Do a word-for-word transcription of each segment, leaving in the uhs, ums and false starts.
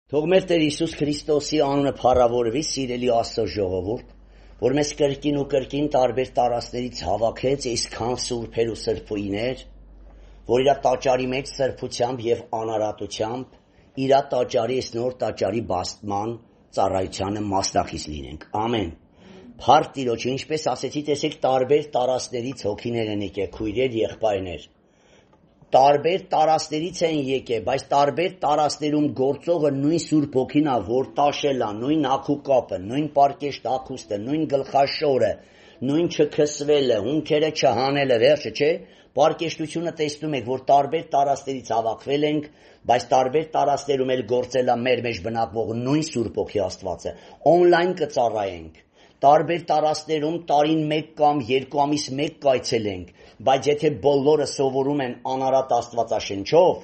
Թող մեր Տեր Հիսուս Քրիստոսի անունը փառավորվի, սիրելի Աստծո ժողովուրդ, որ մեզ կրկին ու կրկին տարբեր տարածքներից հավաքեց այսքան սուրբեր ու սրբույներ, որ իր տաճարի մեջ սրբությամբ եւ անարատությամբ իր տաճարի այս նոր տաճարի բաստման ծառայությանը մասնակից լինենք։ Ամեն։ Փառք Տիրոջը, ինչպես ասեցի, տեսեք տարբեր տարածքներից հոգիներ են եկել, քույրեր, եղբայրներ։ Տարբեր տարածքներից են եկել, բայց տարբեր տարածքներում գործողը նույն Սուրբ Հոգին է, որ տաշել է, նույն ակուկապը, նույն պարկեշտ ակուստը, նույն գլխաշորը, նույն չքսվելը, հունքերը չհանելը, վերջը, չէ՞։ Պարկեշտությունը տեսնում եք, որ տարբեր տարածքներից հավաքվել ենք, բայց տարբեր տարածքներում էլ գործել է մեր մեջ բնակվող նույն Սուրբ Հոգի Աստվածը։ Օնլայն կծառայենք։ Տարբեր տարածքներում տարին մեկ կամ երկու ամիս մեկ կայցելենք, բայց եթե բոլորը սովորում են անարատ Աստվածաշնչով,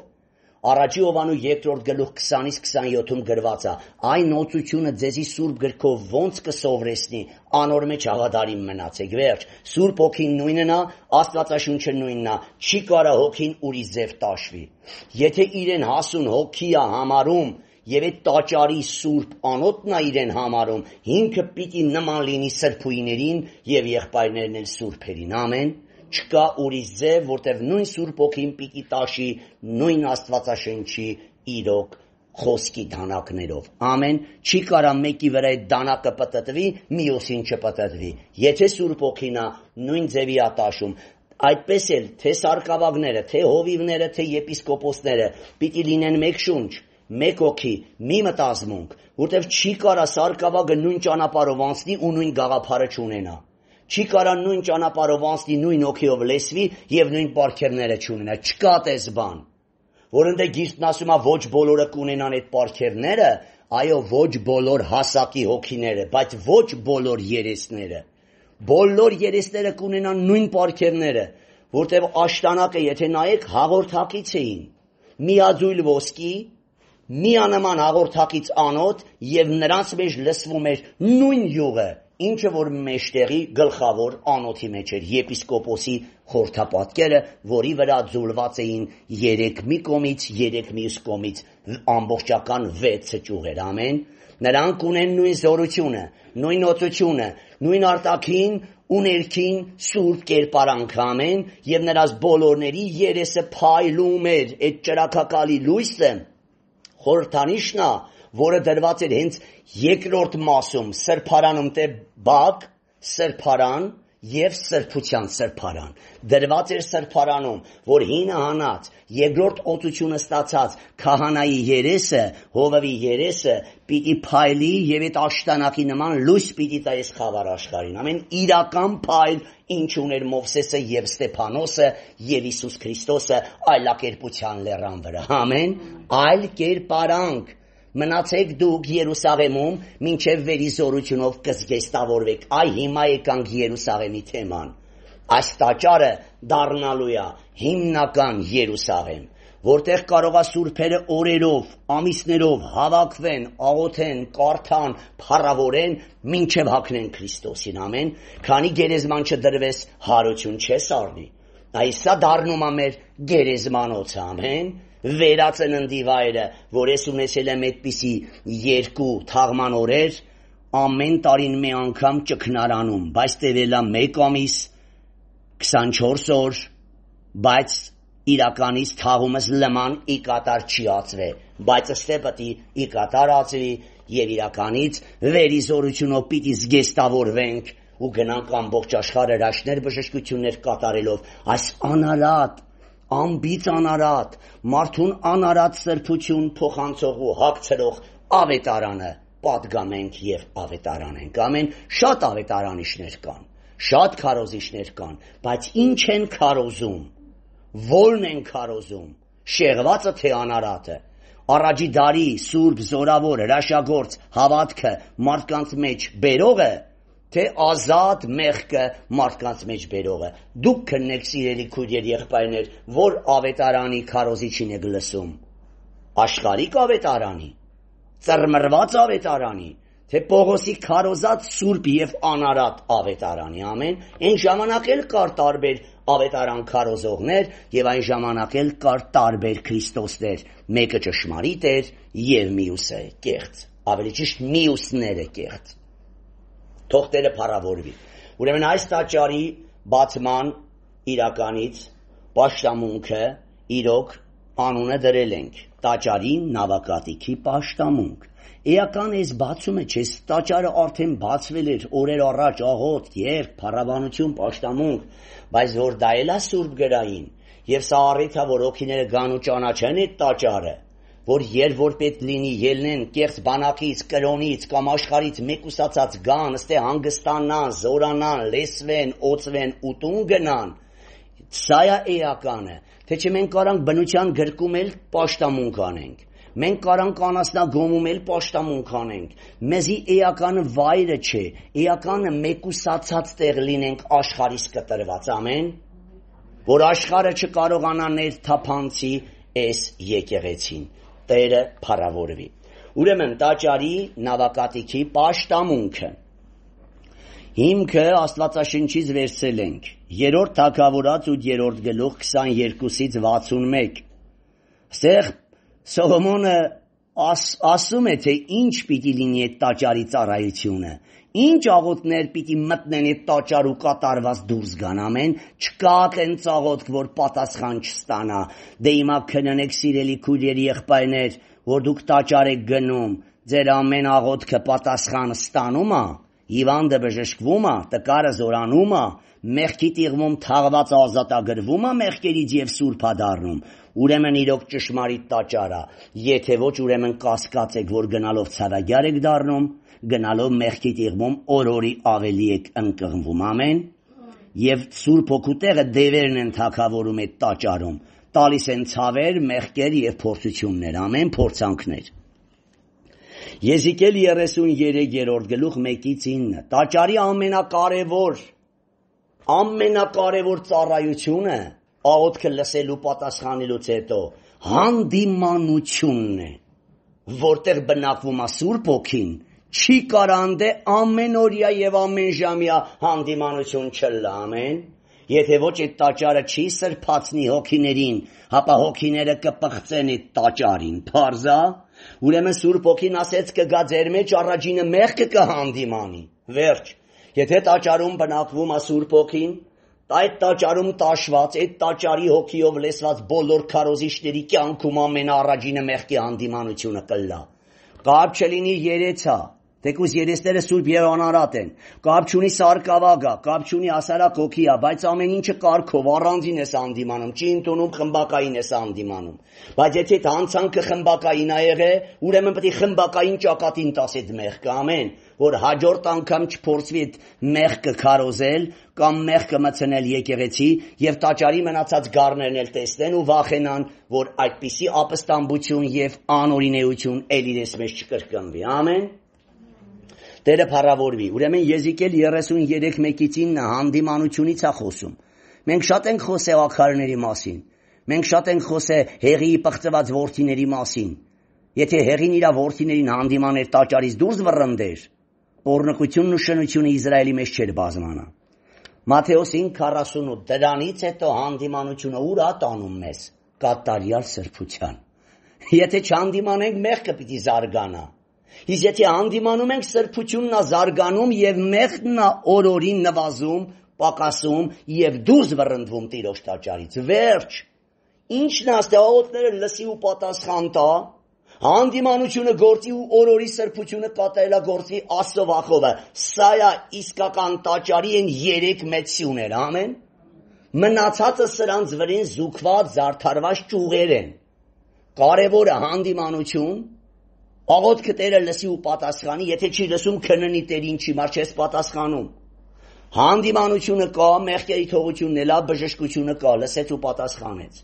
առաջի Հովանու երկրորդ գլուխ քսանից քսանյոթում գրված է, այն օծությունը ձեզի Սուրբ գրքով ոնց կսովրեսնի, անոր մեջ հավատարիմ մնացեք, վերջ, Սուրբ Հոգին նույնն է, Աստվածաշունչը նույնն է, չի կարա Հոգին ուրիշ ձև տաշվի։ Եթե իրեն հասուն Հոգի է համարում, եւ այդ տաճարի Սուրբ անոթն է իրեն համարում, հիմքը պիտի նման լինի սրբույներին եւ եղբայրներն էլ սուրբերին, ամեն։ Չկա ուրիշ ձև, որտեղ նույն Սուրբ Հոգին պիտի տաշի նույն Աստվածաշնչի իրոք խոսքի դանակներով, ամեն։ Չի կարա մեկի վրա այդ դանակը պտտվի, մյուսին չպտտվի։ Եթե Սուրբ Հոգին է, նույն ձևի է տաշում։ Այդպես էլ թե սարկավագները, թե հովիվները, թե եպիսկոպոսները պիտի լինեն մեկ շունչ, մեկ հոգի, մի մտածմունք, որտեղ չի կարա սարկավագը նույն ճանապարհով անցնի ու նույն գաղափարը չունենա։ Չի կարա նույն ճանապարհով անցնի, նույն հոգիով լեսվի եւ նույն պարգևները չունենա։ Չկա տես բան, որ ընդ Գիրքն ասում է ոչ բոլորը կունենան այդ պարգևները, այո, ոչ բոլոր հասակի հոգիները, բայց ոչ բոլոր երեսները։ Բոլոր երեսները կունենան նույն պարգևները, որտեղ աշտանակը, եթե նայեք, հաղորդակից էին։ Միաձույլ ոսկի, միանման հաղորդակից անոթ եւ նրանց մեջ լսվում էր նույն յուղը, ինչը որ մեջտեղի գլխավոր անոթի մեջ էր, եպիսկոպոսի խորթապատկերը, որի վրա ձուլված էին երեք մի կողմից, երեք մյուս կողմից ամբողջական վեցը ճյուղեր, ամեն։ Նրանք ունեն նույն զորությունը, նույն օծությունը, նույն արտաքին ու ներքին սուրբ կերպարանք, ամեն, եւ նրանց բոլորների երեսը փայլում էր, այդ ճրակակալի լույսը խորհրդանիշն է, որը դրված էր հենց երկրորդ մասում, սրբարանում, թե բակ, սրբարան եւ սրբության սրբարան։ Դրված էր սրբարանում, որ հինը հանած, երկրորդ օծությունը ստացած քահանայի երեսը, հովավի երեսը պիտի փայլի եւ այդ աշտանակի նման լույս պիտի տա այս խավար աշխարհին։ Ամեն իրական փայլ, ինչ ուներ Մովսեսը եւ Ստեփանոսը եւ Հիսուս Քրիստոսը այլակերպության լեռան վրա։ Ամեն, այլ կերպարանք։ Մնացեք դուք Երուսաղեմում, մինչև վերի զորությունով կզգեստավորվեք։ Այ հիմա եկանք Երուսաղեմի թեման։ Այս տաճարը դառնալու է հիմնական Երուսաղեմ, որտեղ կարող է սուրբերը օրերով, ամիսներով հավաքվեն, աղոթեն, կարդան, փառավորեն, մինչև հագնեն Քրիստոսին, ամեն։ Քանի գերեզման չդրվես, հարություն չես առնի։ Այսա դառնում է մեր գերեզմանոցը, ամեն։ Վերածննդի վայրը, որ ես ունեցել եմ այդպիսի երկու թաղման օրեր, ամեն տարին մի անգամ ճգնարանում, բայց տևելա մեկ ամիս, քսանչորս օր, բայց իրականից թաղումս լման ի կատար չի ածվե, բայց ըստե պտի ի կատար ածվի եւ իրականից վերի զորությունով պիտի զգեստավորվենք ու գնանք ամբողջ աշխարհը հրաշքներ բժշկություններ կատարելով այս անարատ անբիծ անարատ, մարդուն անարատ սրբություն փոխանցողու հագցրող ավետարանը պատգամենք եւ ավետարանենք, ամեն։ Շատ ավետարանիչներ կան, շատ քարոզիչներ կան, բայց ինչ են քարոզում, ո՞րն են քարոզում, շեղվածը թե անարատը։ Առաջի դարի սուրբ զորավոր հրաշագործ հավատքը մարդկանց մեջ բերողը, թե ազատ մեղքը մարդկանց մեջ բերողը։ Դուք քննեք, սիրելի քույրեր, եղբայրներ, որ ավետարանի քարոզիչին եք լսում։ Աշխարհիկ ավետարանի, ծռմռված ավետարանի, թե Պողոսի քարոզած սուրբ եւ անարատ ավետարանի, ամեն։ Այն ժամանակ էլ կար տարբեր ավետարան քարոզողներ եւ այն ժամանակ էլ կար տարբեր Քրիստոսներ, մեկը ճշմարիտ էր եւ մյուսը կեղծ, ավելի ճիշտ մյուսները կեղծ։ Թող Տերը փառավորվի։ Ուրեմն այս տաճարի բացման իրականից պաշտամունքը իրոք անունը դրել ենք տաճարի նավակատիքի պաշտամունք։ Էական ես բացում է, չես տաճարը արդեն բացվել էր օրեր առաջ, աղոտ, երբ, փառաբանություն, պաշտամունք, բայց որ դա էլ է սուրբ գրային, եւ սա առիթ է, որ օքիները գան ու ճանաչեն այդ տաճարը, որ երբ որ պետք լինի ելնեն կեղծ բանակից, կրոնից կամ աշխարհից մեկուսացած գան, ըստե հանգստանան, զորանան, լեսվեն, օծվեն ու տուն գնան, սա է էականը, թե չէ մենք կարանք բնության գրկում էլ պաշտամունք անենք։ Մենք կարանք անասնագոմում էլ պաշտամունք անենք, մեզի էականը վայրը չէ, էականը մեկուսացած տեղ լինենք աշխարհից կտրված, ամեն, որ աշխարհը չկարողանա ներթափանցի այս եկեղեցին, Տերը փառավորվի։ Ուրեմն տաճարի նավակատիքի պաշտամունքը, հիմքը Աստվածաշնչից վերցրել ենք, երրորդ Թագավորաց ութերորդ գլուխ քսաներկուսից վաթսունմեկ, ստեղ Սողոմոնը աս, ասում է, թե ինչ պիտի լինի այդ տաճարի ծառայությունը, ինչ աղոթներ պիտի մտնեն այդ տաճար ու կատարված դուրս գան, ամեն, չկա տենց աղոթք, որ պատասխան չստանա, դե հիմա քննեք սիրելի քույրերի եղբայրներ, որ դուք տաճար եք գնում, ձեր ամեն աղոթքը պատասխանը ստանում է, հիվանդը բժշկվում է, տկարը զորանում է, մեղքի տիղմում թաղված ազատագրվում է մեղքերից եւ սուրբ դառնում, ուրեմն իրոք ճշմարիտ տաճար է, եթե ոչ ուրեմն կասկած եք, որ գնալով ցարագյար եք դառնում, գնալով մեղքի տիղմում օրորի ավելի եք ընկղմվում, ամեն, եւ սուրբ հոգու տեղը դևերն են թագավորում այդ տաճարում, տալիս են ցավեր, մեղքեր եւ փորձություններ, ամեն, փորձանքներ։ Եզիկել երեսուններորդ գլուխ մեկից ինը, տաճարի ամենակարևոր ամենակարևոր ծառայությունը աղոթքը լսելու պատասխանելուց հետո հանդիմանությունն է, որտեղ բնակվում է Սուրբ Հոգին, չի կարանդե ամենօրյա եւ ամենժամյա հանդիմանություն չլա, ամեն, եթե ոչ այդ տաճարը չի սրբացնի հոգիներին, հապա հոգիները կպղծեն այդ տաճարին, փարզա, ուրեմն Սուրբ Հոգին ասեց կգա ձեր մեջ առաջինը մեղքը կհանդիմանի, վերջ, եթե տաճարում բնակվում է Սուրբ Հոգին, այդ տաճարում տաշված, այդ տաճարի հոգիով լեսված բոլոր քարոզիչների կյանքում ամենաառաջինը մեղքի հանդիմանությունը կլա։ Կապ չլինի երեցա, թեկուզ երեսները սուրբ եւ անարատ են, կապ չունի սարկավագա, կապ չունի ասարակ հոգիա, բայց ամեն ինչը կարգով առանձին ես հանդիմանում, չի ընդունում խմբակային ես հանդիմանում։ Բայց եթե հանցանքը խմբակային ա եղե, ուրեմն պետք է խմբակային ճակատին տաս այդ մեղքը, ամեն, որ հաջորդ անգամ չփորձվի այդ մեղքը քարոզել կամ մեղքը մցնել եկեղեցի եւ տաճարի մնացած գառներն էլ տեսնեն ու վախենան, որ այդպիսի ապստամբություն եւ անօրինեություն ել իրենց մեջ չկրկնվի, ամեն։ Տերը փառավորվի։ Ուրեմն Եզիկել երեսուններեք մեկից ինը հանդիմանությունից է խոսում։ Մենք շատ ենք խոսել ակхարների մասին։ Մենք շատ ենք խոսել հեղի պղծված որդիների մասին։ Եթե հեղին իր որդիներին հանդիմաներ տաճարից դուրս վռնդեր, օրնկությունն ու շնությունը Իսրայելի մեջ չէր բազմանա։ Մատթեոս ինը քառասունութ դրանից հետո հանդիմանությունը ուր է տանում մեզ, կատարյալ սրբության։ Եթե չհանդիմանենք, մեղքը պիտի զարգանա։ Իսկ եթե հանդիմանում ենք, սրբությունն է զարգանում եւ մեղքն է օրորին նվազում, պակասում եւ դուրս վռնդվում Տիրոջ տաճարից։ Վերջ։ Ինչն է աստեղոտները լսի ու պատասխան տա, հանդիմանությունը գործի ու օրորի սրբությունը կատարելագործի Աստծո վախովը։ Սա է իսկական տաճարի են երեք մեծ սյուներ, ամեն։ Մնացածը սրանց վրին զուգված զարդարված ճյուղեր են։ Կարևորը հանդիմանություն, աղոթքը Տերը լսի ու պատասխանի, եթե չի լսում քննի Տերին չի մար չես պատասխանում։ Հանդիմանությունը կա, մեղքերի թողությունն էլ, բժշկությունը կա, լսեց ու պատասխանեց։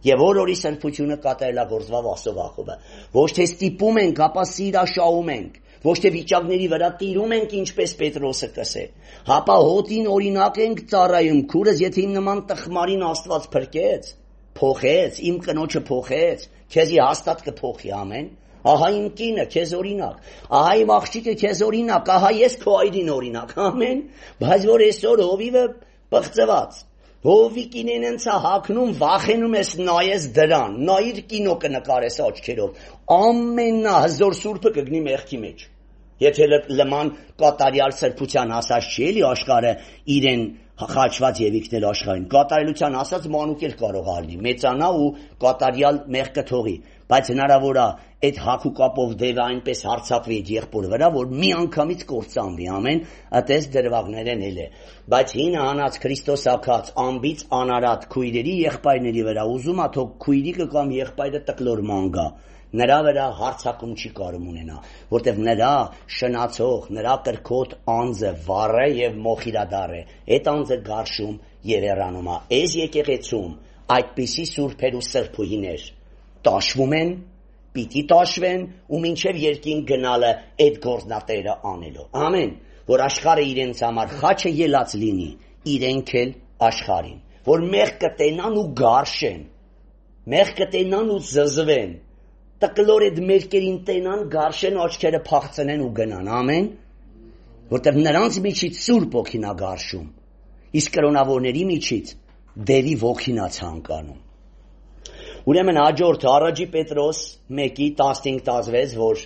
Եվ օրորի սրբությունը կատարելագործվավ Աստծո վախովը։ Ոչ թե ստիպում ենք, ապա սիրաշահում ենք, ոչ թե վիճակների վրա տիրում ենք, ինչպես Պետրոսը կսե։ Հապա հոտին օրինակ ենք ծառայում, քուրս եթե իմ նման տխմարին Աստված փրկեց, փոխեց, իմ կնոջը փոխեց, քեզի հաստատ կփոխի, ամեն։ Ահա իմ կինը քեզ օրինակ, ահա իմ աղջիկը քեզ օրինակ, ահա ես քո այրին օրինակ, ամեն, բայց որ այսօր հովիվը պղծված, Հովիկին են ցա հակնում, վախենում ես նայես դրան, նայիր կինո կնկարես աչքերով, ամենահզոր սուրբը կգնի մեղքի մեջ։ Եթե լման կատարյալ սրբության ասած չի էլի աշխարհը իրեն խաչված Եվիկներ աշխարհին, կատարելության ասած մանուկ էլ կարող ալնի, մեծանա ու կատարյալ մեղքը թողի, բայց հնարավոր է այդ հակու կապով դեպը այնպես հարցակվի այդ եղբոր վրա, որ մի անգամից կործանվի, ամեն, այդպես դրվագներն էլ է։ Բայց հինը հանած Քրիստոս ակած ամբից անարատ քույրերի եղբայրների վրա ուզում ա թող քույրիկը կամ եղբայրը տկլոր մանգա, նրա վրա հարցակում չի կարող ունենա, որտեղ նրա շնացող, նրա կրքոտ անձը վառ է եւ մոխիրադար է, այդ անձը գարշում եւ երանում է։ Այս եկեղեցում այդպիսի սուրբեր ու սրբուհիներ տաշվում են, պիտի տաշվեն ու մինչև երկին գնալը այդ գործնատերը անելու։ Ամեն, որ աշխարհը իրենց համար խաչը ելած լինի, իրենք էլ աշխարհին, որ մեղ կտենան ու գարշեն, մեղ կտենան ու զզվեն, տկլոր այդ մերկերին տենան, գարշեն, աչքերը փախցնեն ու գնան, ամեն, որտեղ նրանց միջից սուրբ ոգին ա գարշում, իսկ կրոնավորների միջից դերի ոգին ա ցանկանում։ Ուրեմն հաջորդը առաջի Պետրոս մեկի տասնհինգ տասնվեց, որ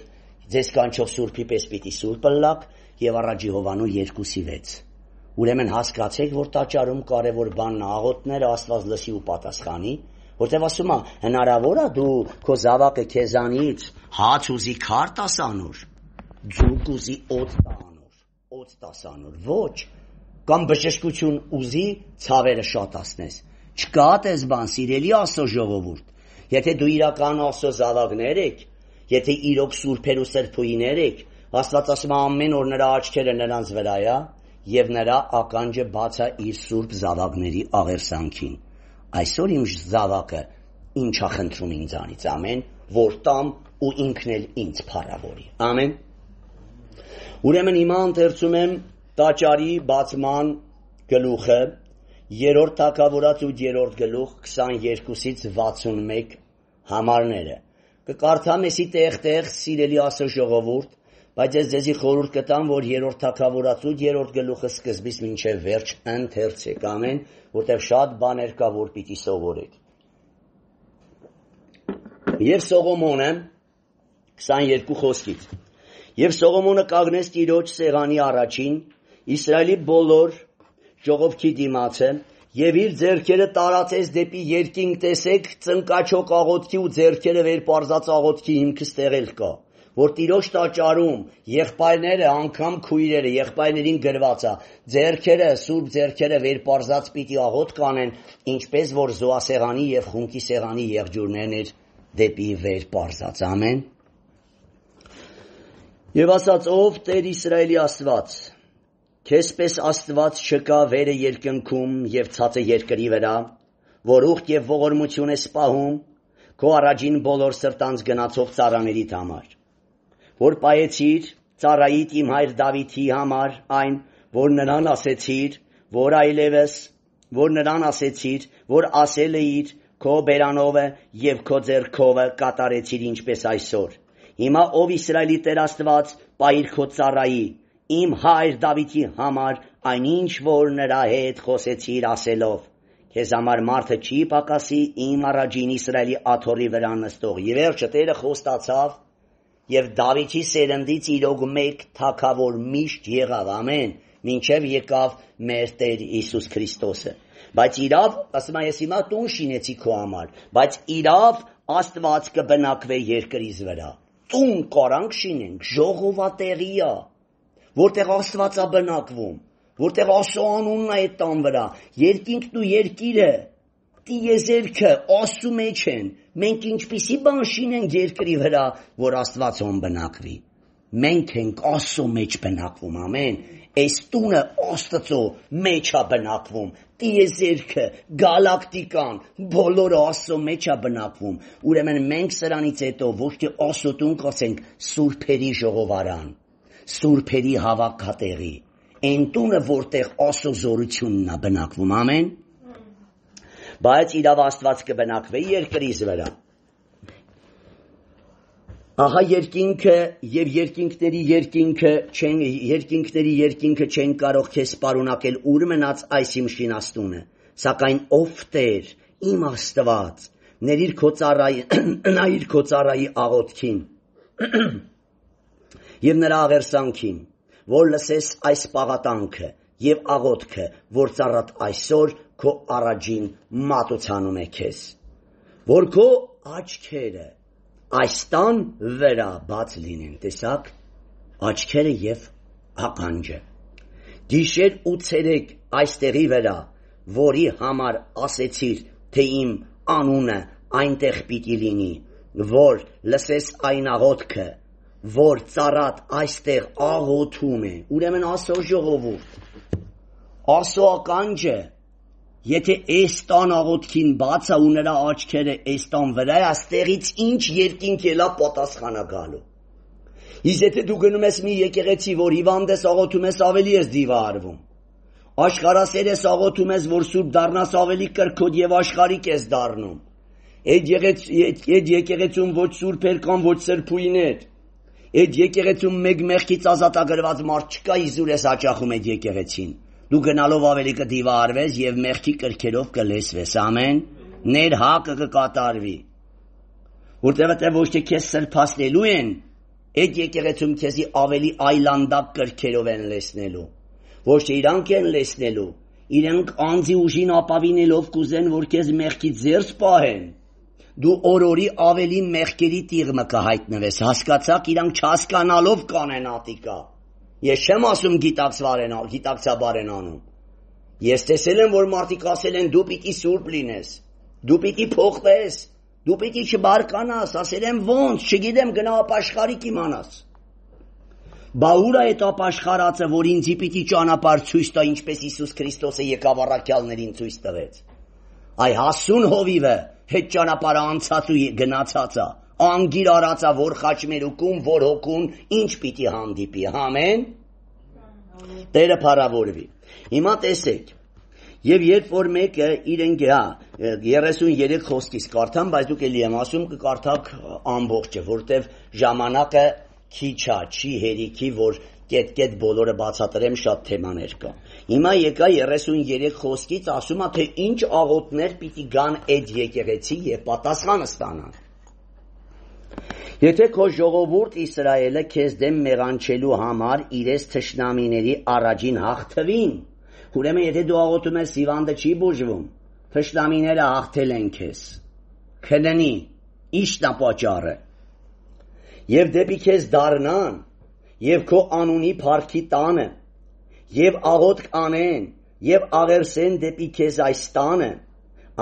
ձեզ կանչող սուրբի պես պիտի սուրբ ըլլաք, եւ առաջի Հովանու երկուսի վեց։ Ուրեմն հասկացեք, որ տաճարում կարևոր բանն աղոթները Աստված լսի ու պատասխանի, որտեղ ասում է հնարավոր է դու քո զավակը քեզանից հաց ուզի քար տաս անոր, ձուկ ուզի օծ տա անոր, օծ տաս անոր, ոչ, կամ բժշկություն ուզի ցավերը շատացնես։ Չկա այդպես բան, սիրելի Աստծո ժողովուրդ։ Եթե դու իրական Աստծո զավակներ եք, եթե իրոք սուրբեր ու սրբուհիներ եք, Աստված ասում է ամեն օր նրա աչքերը նրանց վրա է եւ նրա ականջը բաց է իր սուրբ զավակների աղերսանքին։ Այսօր իմ զավակը ինչ է խնդրում ինձանից, ամեն, որ տամ ու ինքն էլ ինձ փառավորի։ Ամեն։ Ուրեմն հիմա ընթերցում եմ տաճարի բացման գլուխը, երրորդ թագավորաց ու երրորդ գլուխ քսաներկուսից վաթսունմեկ համարները։ Կկարդամ էսի տեղ-տեղ, սիրելի Աստծո ժողովուրդ, բայց ես ձեզի խորհուրդ կտամ, որ երրորդ թագավորաց ու երրորդ գլուխը սկզբից մինչև վերջ ընթերցեք, ամեն, որտեղ շատ բաներ կա, որ պիտի սովորեք։ Եվ Սողոմոնը քսաներկու խոսքից։ Եվ Սողոմոնը կանգնեց Տիրոջ սեղանի առաջին, Իսրայելի բոլոր ժողովքի դիմացը, եւ իր ձեռքերը տարածեց դեպի երկինք, տեսեք, ծնկաչոք աղոթքի ու ձեռքերը վեր պարզած աղոթքի հիմքը ստեղել կա, որ Տիրոջ տաճարում եղբայրները, անգամ քույրերը, եղբայրներին գրված է, ձեռքերը, սուրբ ձեռքերը վեր պարզած պիտի աղոթք կանեն, ինչպես որ զոհասեղանի եւ խունկի սեղանի եղջյուրներն էր դեպի վեր պարզած, ամեն։ Եվ ասաց, ով Տեր Իսրայելի Աստված, քեզպես Աստված չկա վերը երկնքում եւ ցածը երկրի վրա, որ ուխտ եւ ողորմություն է սպահում քո առաջին բոլոր սրտանց գնացող ծառաներիդ համար, որ պայեցիր ծառայիդ իմ հայր Դավիթի համար այն, որ նրան ասեցիր, որ այլևս, որ նրան ասեցիր, որ ասել էիր քո բերանովը եւ քո ձեռքովը կատարեցիր ինչպես այսօր։ Հիմա ով Իսրայելի Տեր Աստված, պայիր քո ծառայի իմ հայր Դավիթի համար այնինչ որ նրա հետ խոսեցիր ասելով, քեզ համար մարդը չի պակասի իմ առաջին Իսրայելի աթոռի վրա նստող։ Եվ վերջը Տերը խոստացավ եւ Դավիթի սերնդից իրոք մեկ թագավոր միշտ եղավ, ամեն, մինչեւ եկավ մեր Տեր Հիսուս Քրիստոսը։ Բայց իրավ, ասում եմ, ես հիմա տուն շինեցի քո համար, բայց իրավ Աստված կբնակվե երկրից վրա։ Տուն կարանք շինենք, ժողովատեղի է, որտեղ Աստված է բնակվում, որտեղ Աստծո անունն է այդ տան վրա, երկինքն ու երկիրը, տիեզերքը Աստծո մեջ են, մենք ինչպիսի բան շինենք երկրի վրա, որ Աստվածոն բնակվի։ Մենք ենք Աստծո մեջ բնակվում, ամեն, այս տունը Աստծո մեջ է բնակվում, տիեզերքը, գալակտիկան, բոլորը Աստծո մեջ է բնակվում, ուրեմն մենք սրանից հետո ոչ թե Աստծո տուն կասենք սուրբերի ժողովարան, սուրբերի հավաքատեղի, այն տունը, որտեղ Աստծո զորությունն է բնակվում, ամեն, բայց իրավ Աստված կբնակվի երկրից վրա։ Ահա երկինքը եւ երկինքների երկինքը չեն երկինքների երկինքը չեն կարող քեզ սպառունակել ուր մնաց այս իմ շինաստունը։ Սակայն ով Տեր, իմ Աստված, ներիր քո ծառայի, նայիր քո ծառայի աղոթքին եւ նրա աղերսանքին, որ լսես այս պաղատանքը եւ աղոթքը, որ ծառատ այսօր քո առաջին մատուցանում է քեզ, որ քո աչքերը այս տան վրա բաց լինեն, տեսակ, աչքերը եւ ականջը, գիշեր ու ցերեկ այստեղի վրա, որի համար ասեցիր, թե իմ անունը այնտեղ պիտի լինի, որ լսես այն աղոթքը, որ ծառատ այստեղ աղոթում է, ուրեմն Աստծո ժողովուրդ, Աստծո ականջը, եթե այս տան աղոթքին բաց է ու նրա աչքերը այս տան վրա է, աստեղից ինչ երկինք ելա պատասխանա գալու։ Իսկ եթե դու գնում ես մի եկեղեցի, որ հիվանդ ես աղոթում ես, ավելի ես դիվարվում։ Աշխարհասեր ես աղոթում ես, որ սուրբ դառնաս, ավելի կրքոտ եւ աշխարհիկ ես դառնում։ Այդ եկեղեցում ոչ սուրբեր կան, ոչ սրբույներ։ Այդ եկեղեցում մեկ մեղքից ազատագրված մարդ չկա, իզուր ես հաճախում այդ եկեղեցին։ Դու գնալով ավելի կդիվարվես եւ մեղքի կրքերով կլեսվես, ամեն, ներ հակը կկատարվի։ Որտեղ ոչ թե քեզ սրբացնելու են, այդ եկեղեցում քեզի ավելի այլանդակ կրքերով են լեսնելու։ Ոչ թե իրանք են լեսնելու, իրենք անձի ուժին ապավինելով կուզեն, որ քեզ մեղքից զերծ պահեն։ Դու օրորի ավելի մեղքերի տիղմը կհայտնվես, հասկացաք, իրանք չհասկանալով կանեն ատիկա։ Ես չեմ ասում գիտակցաբար են անում։ Ես տեսել եմ, որ մարդիկ ասել են դու պիտի սուրբ լինես, դու պիտի փոխվես, դու պիտի չբարկանաս, ասել եմ ոնց, չգիտեմ, գնա ապաշխարիկ իմանաս։ Բա ուր է այդ ապաշխարածը, որ ինձի պիտի ճանապարհ ցույց տա, ինչպես Հիսուս Քրիստոսը եկավ առաքյալներին ցույց տվեց։ Այ հասուն հովիվը հետ ճանապարհը անցած ու գնացած է, անգիր արածա, որ խաչմերուկում, որ հոգուն, ինչ պիտի հանդիպի, ամեն։ Տերը փառավորվի։ Հիմա տեսեք, եւ երբ որ մեկը իրեն գա երեսուններեք խոսքից կարդամ, բայց դուք էլի եմ ասում կկարդաք ամբողջը, որտեվ ժամանակը քիչ է, չի հերիքի, որ կետ-կետ բոլորը բացատրեմ, շատ թեմաներ կա։ Հիմա եկա երեսուններեք խոսքից ասում է, թե ինչ աղոթներ պիտի գան այդ եկեղեցի եւ պատասխանը ստանան։ Եթե քո ժողովուրդ Իսրայելը քեզ դեմ մեղանչելու համար իրես թշնամիների առաջին հաղթվին, ուրեմն եթե դու աղոթում ես հիվանդը չի բուժվում, թշնամիները հաղթել են քեզ։ Քննի, ի՞նչն է պատճառը։ Եվ դեպի քեզ դառնան, եւ քո անունի փառքի տանը, եւ աղոթք անեն, եւ աղերսեն դեպի քեզ այս տանը,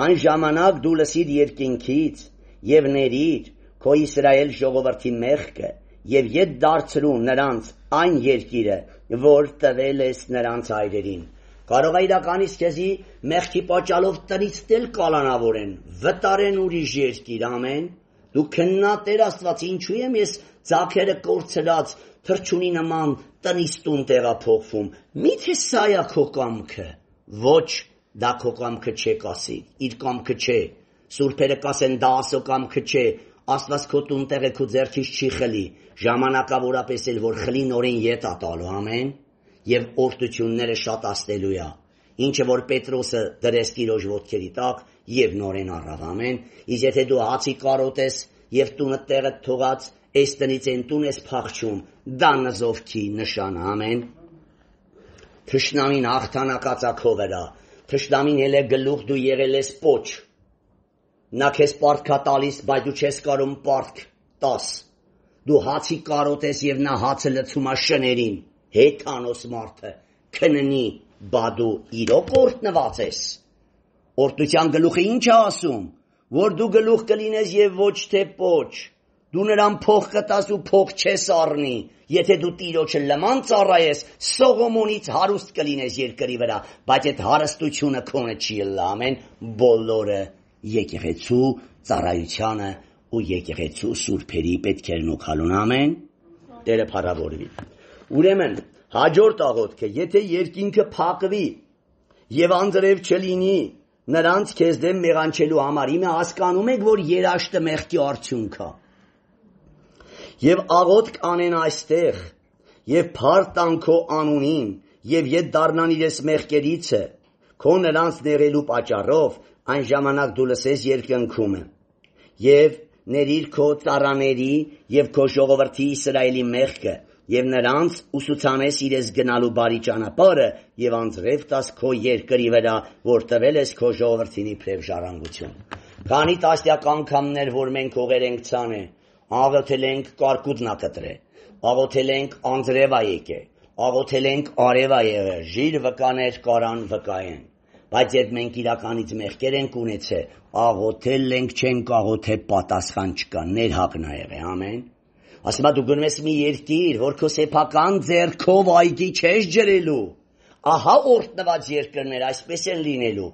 այն ժամանակ դու լսիր երկինքից եւ ներիր քո Իսրայել ժողովրդի մեղքը եւ ետ դարձրու նրանց այն երկիրը, որ տվել ես նրանց հայրերին։ Կարող է իրականից քեզի մեղքի պատճառով տնից դել կալանավորեն, վտարեն ուրիշ երկիր, ամեն։ Դու քննա Տեր Աստված, ինչու եմ ես ձախերը կորցրած թրջունի նման տնից տուն տեղափոխվում։ Միթե սա է քո կամքը։ Ոչ, դա քո կամքը չէ, կասի, իր կամքը չէ։ Սուրբերը կասեն դա Աստծո կամքը չէ, Աստված քո տուն տեղը քո ձեռքից չի խլի, ժամանակավորապես էլ որ խլի նորեն ետ է տալու, ամեն, եւ օրդությունները շատացնելու է։ Ինչը որ Պետրոսը դրեց Տիրոջ ոտքերի տակ եւ նորեն առավ, ամեն։ Իսկ եթե դու հացի կարոտես եւ տունը տեղը թողած, այս տնից են տուն ես փախչում, դա նզովքի նշան, ամեն։ Թշնամին հաղթանակածակով էրա, թշնամին էլ է գլուխ, դու եղել ես պոչ։ Նա քեզ պարտքա տալիս, բայց դու չես կարում պարտք տաս։ Դու հացի կարոտես եւ նա հացը լցում է շներին, հեթանոս մարդը, քննի, բա դու իրոք օրհնված ես։ Օրհնության գլուխը ինչ է ասում, որ դու գլուխ կլինես եւ ոչ թե պոչ։ Դու նրան փող կտաս ու փող չես առնի, եթե դու Տիրոջը լման ծառայես, Սողոմոնից հարուստ կլինես երկրի վրա, բայց այդ հարստությունը քոնը չի ելա, ամեն, բոլորը եկեղեցու ծառայությանը ու եկեղեցու սուրբերի պետքերն ու քալուն, ամեն, Տերը փառավորվի։ Ուրեմն հաջորդ աղոթքը, եթե երկինքը փակվի եւ անձրև չլինի նրանց քեզ դեմ մեղանչելու համար, իմը հասկանում եք, որ երաշտը մեղքի արդյունք է։ Եվ աղոթք անեն այստեղ, եւ փառք տան քո անունին, եւ ետ դառնան իրես մեղքերիցը, քո նրանց ներելու պատճառով այն ժամանակ դու լսես երկնքումը եւ ներիր քո ծառաների եւ քո ժողովրդի Իսրայելի մեղքը եւ նրանց ուսուցանես իրես գնալու բարի ճանապարհը եւ անձրև տաս քո երկրի վրա, որ տվել ես քո ժողովրդին իբրև ժառանգություն։ Քանի տասնյակ անգամներ, որ մենք ուղեր ենք ցանը, աղոթել ենք կարկուտնա կտրե, աղոթել ենք անձրևա եկե, աղոթել ենք արևա եղե, ժիր վկաներ կարան վկայեն։ Բայց երբ մենք իրականից մեղքեր ենք ունեցել, աղոթել ենք չենք աղոթել պատասխան չկա, ներհակն ա եղե, ամեն։ Ասում դու գնում ես մի երկիր, որ քո սեփական ձեռքով այգի չես ջրելու, ահա օրհնված երկրներ այսպես են լինելու,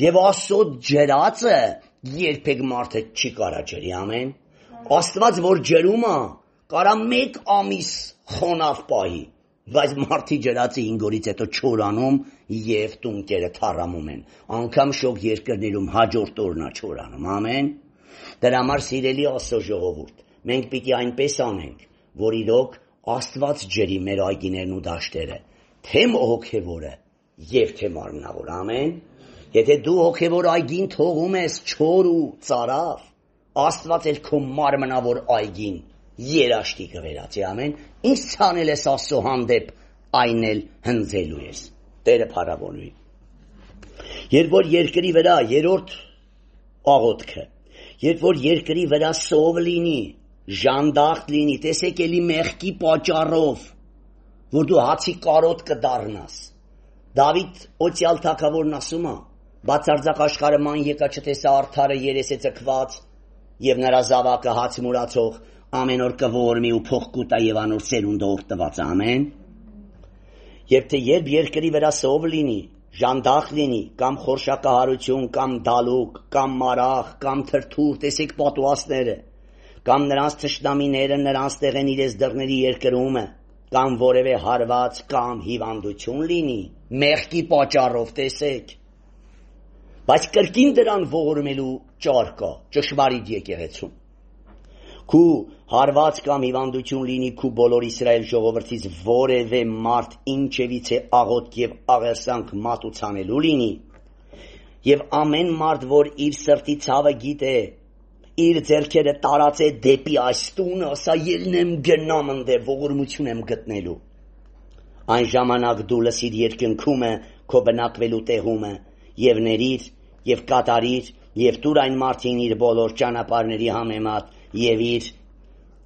եւ Աստծո ջրածը երբեք մարդը չի կարա ջրի, ամեն։ Աստված որ ջրում է, կարա մեկ ամիս խոնավ պահի, բայց մարդի ջրածը հինգ օրից հետո չորանում եւ տունկերը թառամում են, անգամ շոգ երկրներում հաջորդ օրն է չորանում, ամեն։ Դրա համար սիրելի Աստծո ժողովուրդ, մենք պիտի այնպես անենք, որ իրոք Աստված ջրի մեր այգիներն ու դաշտերը, թե հոգևորը եւ թե մարմնավոր, ամեն։ Եթե դու հոգևոր այգին թողում ես չոր ու ծարավ, Աստված էլ քո մարմնավոր այգին երաշտի կվերածի, ամեն։ Ինչ ցանել ես Աստծո հանդեպ, այն էլ հնձելու ես։ Տերը փառավորվի։ Երբ որ երկրի վրա երրորդ աղոթքը, երբ որ երկրի վրա սով լինի, ժանդախտ լինի, տեսեք էլի մեղքի պատճառով, որ դու հացի կարոտ կդառնաս։ Դավիթ օծյալ թագավորն ասում է, բացարձակ աշխարհը ման եկա չտեսա արդարը երես է ծքված, եւ նրա զավակը հաց մուրացող ամեն օր կողորմի ու փող կուտա եւ անոր սերունդը օրտված, ամեն։ Եվ թե երբ երկրի վրա սով լինի, ժանդախ լինի, կամ խորշակահարություն, կամ դալուկ, կամ մարախ, կամ թրթուր, տեսեք պատուասները, կամ նրանց թշնամիները նրանց տեղեն իրենց դռների երկրումը, կամ որևէ հարված կամ հիվանդություն լինի, մեղքի պատճառով, տեսեք։ Բայց կրկին դրան ողորմելու ճար կա, ճշմարիտ եկեղեցում։ Քու հարված կամ հիվանդություն լինի քու բոլոր Իսրայել ժողովրդից որևէ մարդ ինչևիցե աղոթք եւ աղերսանք մատուցանելու լինի, եւ ամեն մարդ, որ իր սրտի ցավը գիտե, իր ձեռքերը տարածե դեպի այս տունը, ասա ելնեմ գնամ ընդ ողորմություն եմ գտնելու։ Այն ժամանակ դու լսիր երկնքումը քո բնակվելու տեղումը եւ ներիր եւ կատարիր եւ դուր այն մարդին իր բոլոր ճանապարհների համեմատ եւ իր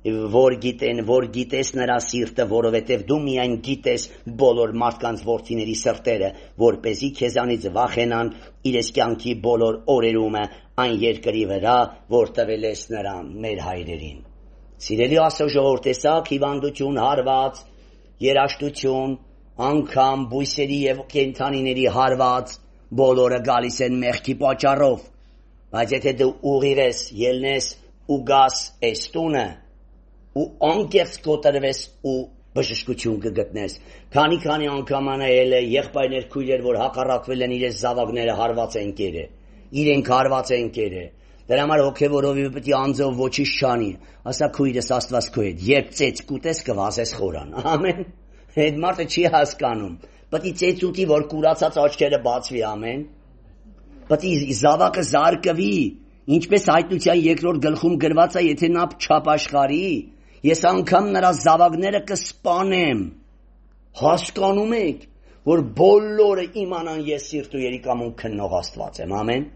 որ գիտեն, որ գիտես նրա սիրտը, որովհետև դու միայն գիտես բոլոր մարդկանց որդիների սրտերը, որպեսզի քեզանից վախենան իրենց կյանքի բոլոր օրերումը այն երկրի վրա, որ տվել ես նրան մեր հայրերին։ Սիրելի Աստծո ժողովուրդ, տեսակ հիվանդություն, հարված, երաշտություն, անգամ բույսերի եւ կենդանիների հարված, բոլորը գալիս են մեղքի պատճառով, բայց եթե դու ուղիղ ես, ելնես ու գաս այս տունը ու անկեղծ կոտրվես ու բժշկություն կգտնես, քանի-քանի անգամ անայել է եղբայրներ քույրեր, որ հակառակվել են իրենց զավակները հարված են կերը, իրենք հարված են կերը, դրա համար հոգևորովի պետք է անձով ոչինչ չանի, ասա քույրս Աստված քո հետ, երբ ծեծ կուտես կվազես խորան, ամեն, այդ մարդը չի հասկանում, պետք է ծեծ ուտի, որ կուրացած աչքերը բացվի, ամեն, պետք է զավակը զարկվի, ինչպես հայտնության երկրորդ գլխում գրված է, եթե նա չապաշխարի, ես անգամ նրա զավակները կսպանեմ, հասկանում եք, որ բոլորը իմանան ես սիրտ ու երիկամուն քննող Աստված եմ, ամեն։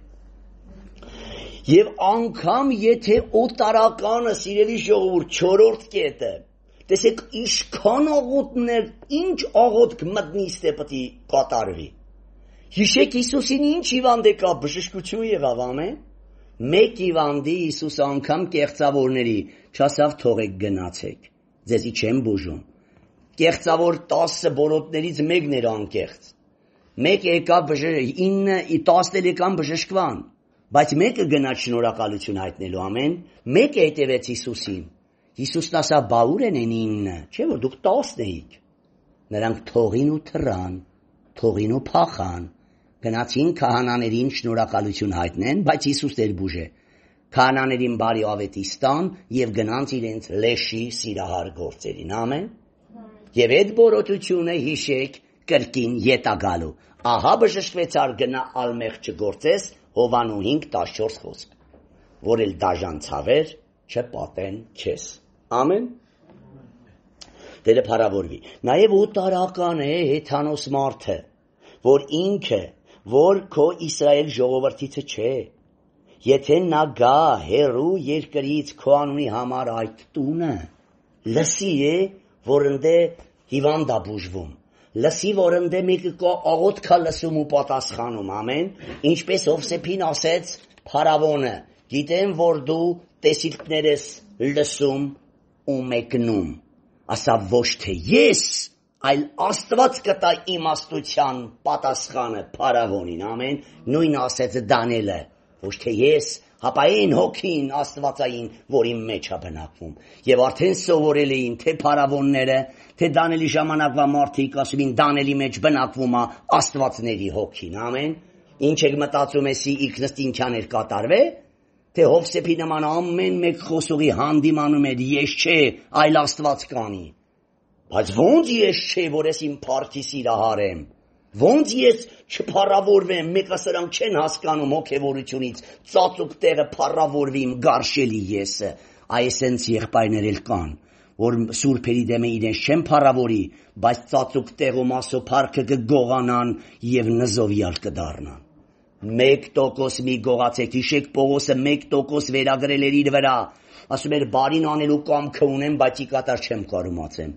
Եվ անգամ եթե օտարականը, սիրելի ժողովուրդ, չորրորդ կետը, տեսեք ինչքան աղոթքներ, ինչ աղոթք մտնից թե պետք է կատարվի։ Հիշեք Հիսուսին ինչ հիվանդ եկա, բժշկություն եղավ, ամեն։ Մեկ հիվանդի Հիսուս անգամ կեղծավորների չասավ թողեք գնացեք, ձեզի չեմ բուժում։ Կեղծավոր տասը բորոտներից մեկն էր անկեղծ։ Մեկ եկավ ինը տասն եկան բժշկվան, բայց մեկը գնաց շնորհակալություն հայտնելու, ամեն։ Մեկը հետևեց Հիսուսին։ Հիսուսն ասավ բա ուր են ինը, չէ՞ որ դուք տասն էիք։ Նրանք թողին ու թռան, թողին ու փախան։ Գնացին քահանաներին շնորհակալություն հայտնեն, բայց Հիսուս էր բուժե։ Քահանաներին բարի ավետի ստան եւ գնանց իրենց լեշի սիրահար գործերին, ամեն։ Եվ այդ բորոտությունը հիշեք կրկին ետագալու։ Ահա բժշկվեցար գնա ալմեղ չգործես Հովանու հինգ տասնչորս խոսք, որ էլ դաժան ցավեր չպատեն քեզ։ Ամեն։ Դերը փառավորվի։ Նաև օտարական է հեթանոս մարդը, որ ինքը, որ քո Իսրայել ժողովրդիցը չէ։ Եթե նա գա հերու երկրից քո անունի համար այդ տունը, լսի է, որ ընդ է հիվանդ է բուժվում, լսի, որ ընդ է մեկը կա աղոթք է լսում ու պատասխանում, ամեն, ինչպես Հովսեփին ասեց փարավոնը, գիտեմ, որ դու տեսիլքներս լսում ու մեկնում, ասա ոչ թե ես, այլ Աստված կտա իմաստության պատասխանը փարավոնին, ամեն, նույն ասեց Դանիելը, ոչ թե ես, հապա այն հոգին աստվածային, որ իմ մեջ է բնակվում։ Եվ արդեն սովորել էին թե փարավոնները, թե Դանիելի ժամանակվա մարդիկ ասում են Դանիելի մեջ բնակվում է աստվածների հոգին, ամեն։ Ինչ եք մտածում եսի ինքնըստին ինքյաներ կատարվե, թե Հովսեփի նման ամեն մեկ խոսողի հանդիմանում էր ես չէ, այլ Աստված կանի։ Բայց ոնց ես չէ, որ ես իմ փառքի սիրահարեմ։ Ոնց ես չփառավորվեմ, մեկը սրանք չեն հասկանում հոգևորությունից, ծածուկ տեղը փառավորվի իմ գարշելի եսը, այսենց եղբայրներ էլ կան, որ սուրբերի դեմը իրենց չեն փառավորի, բայց ծածուկ տեղում ասո փառքը կգողանան եւ նզովյալ կդառնան։ Մեկ տոկոս մի գողացեք, հիշեք Պողոսը մեկ տոկոս վերագրել էր իր վրա, ասում էր բարին անելու կամքը ունեմ, բայց ի կատար չեմ կարողացեմ։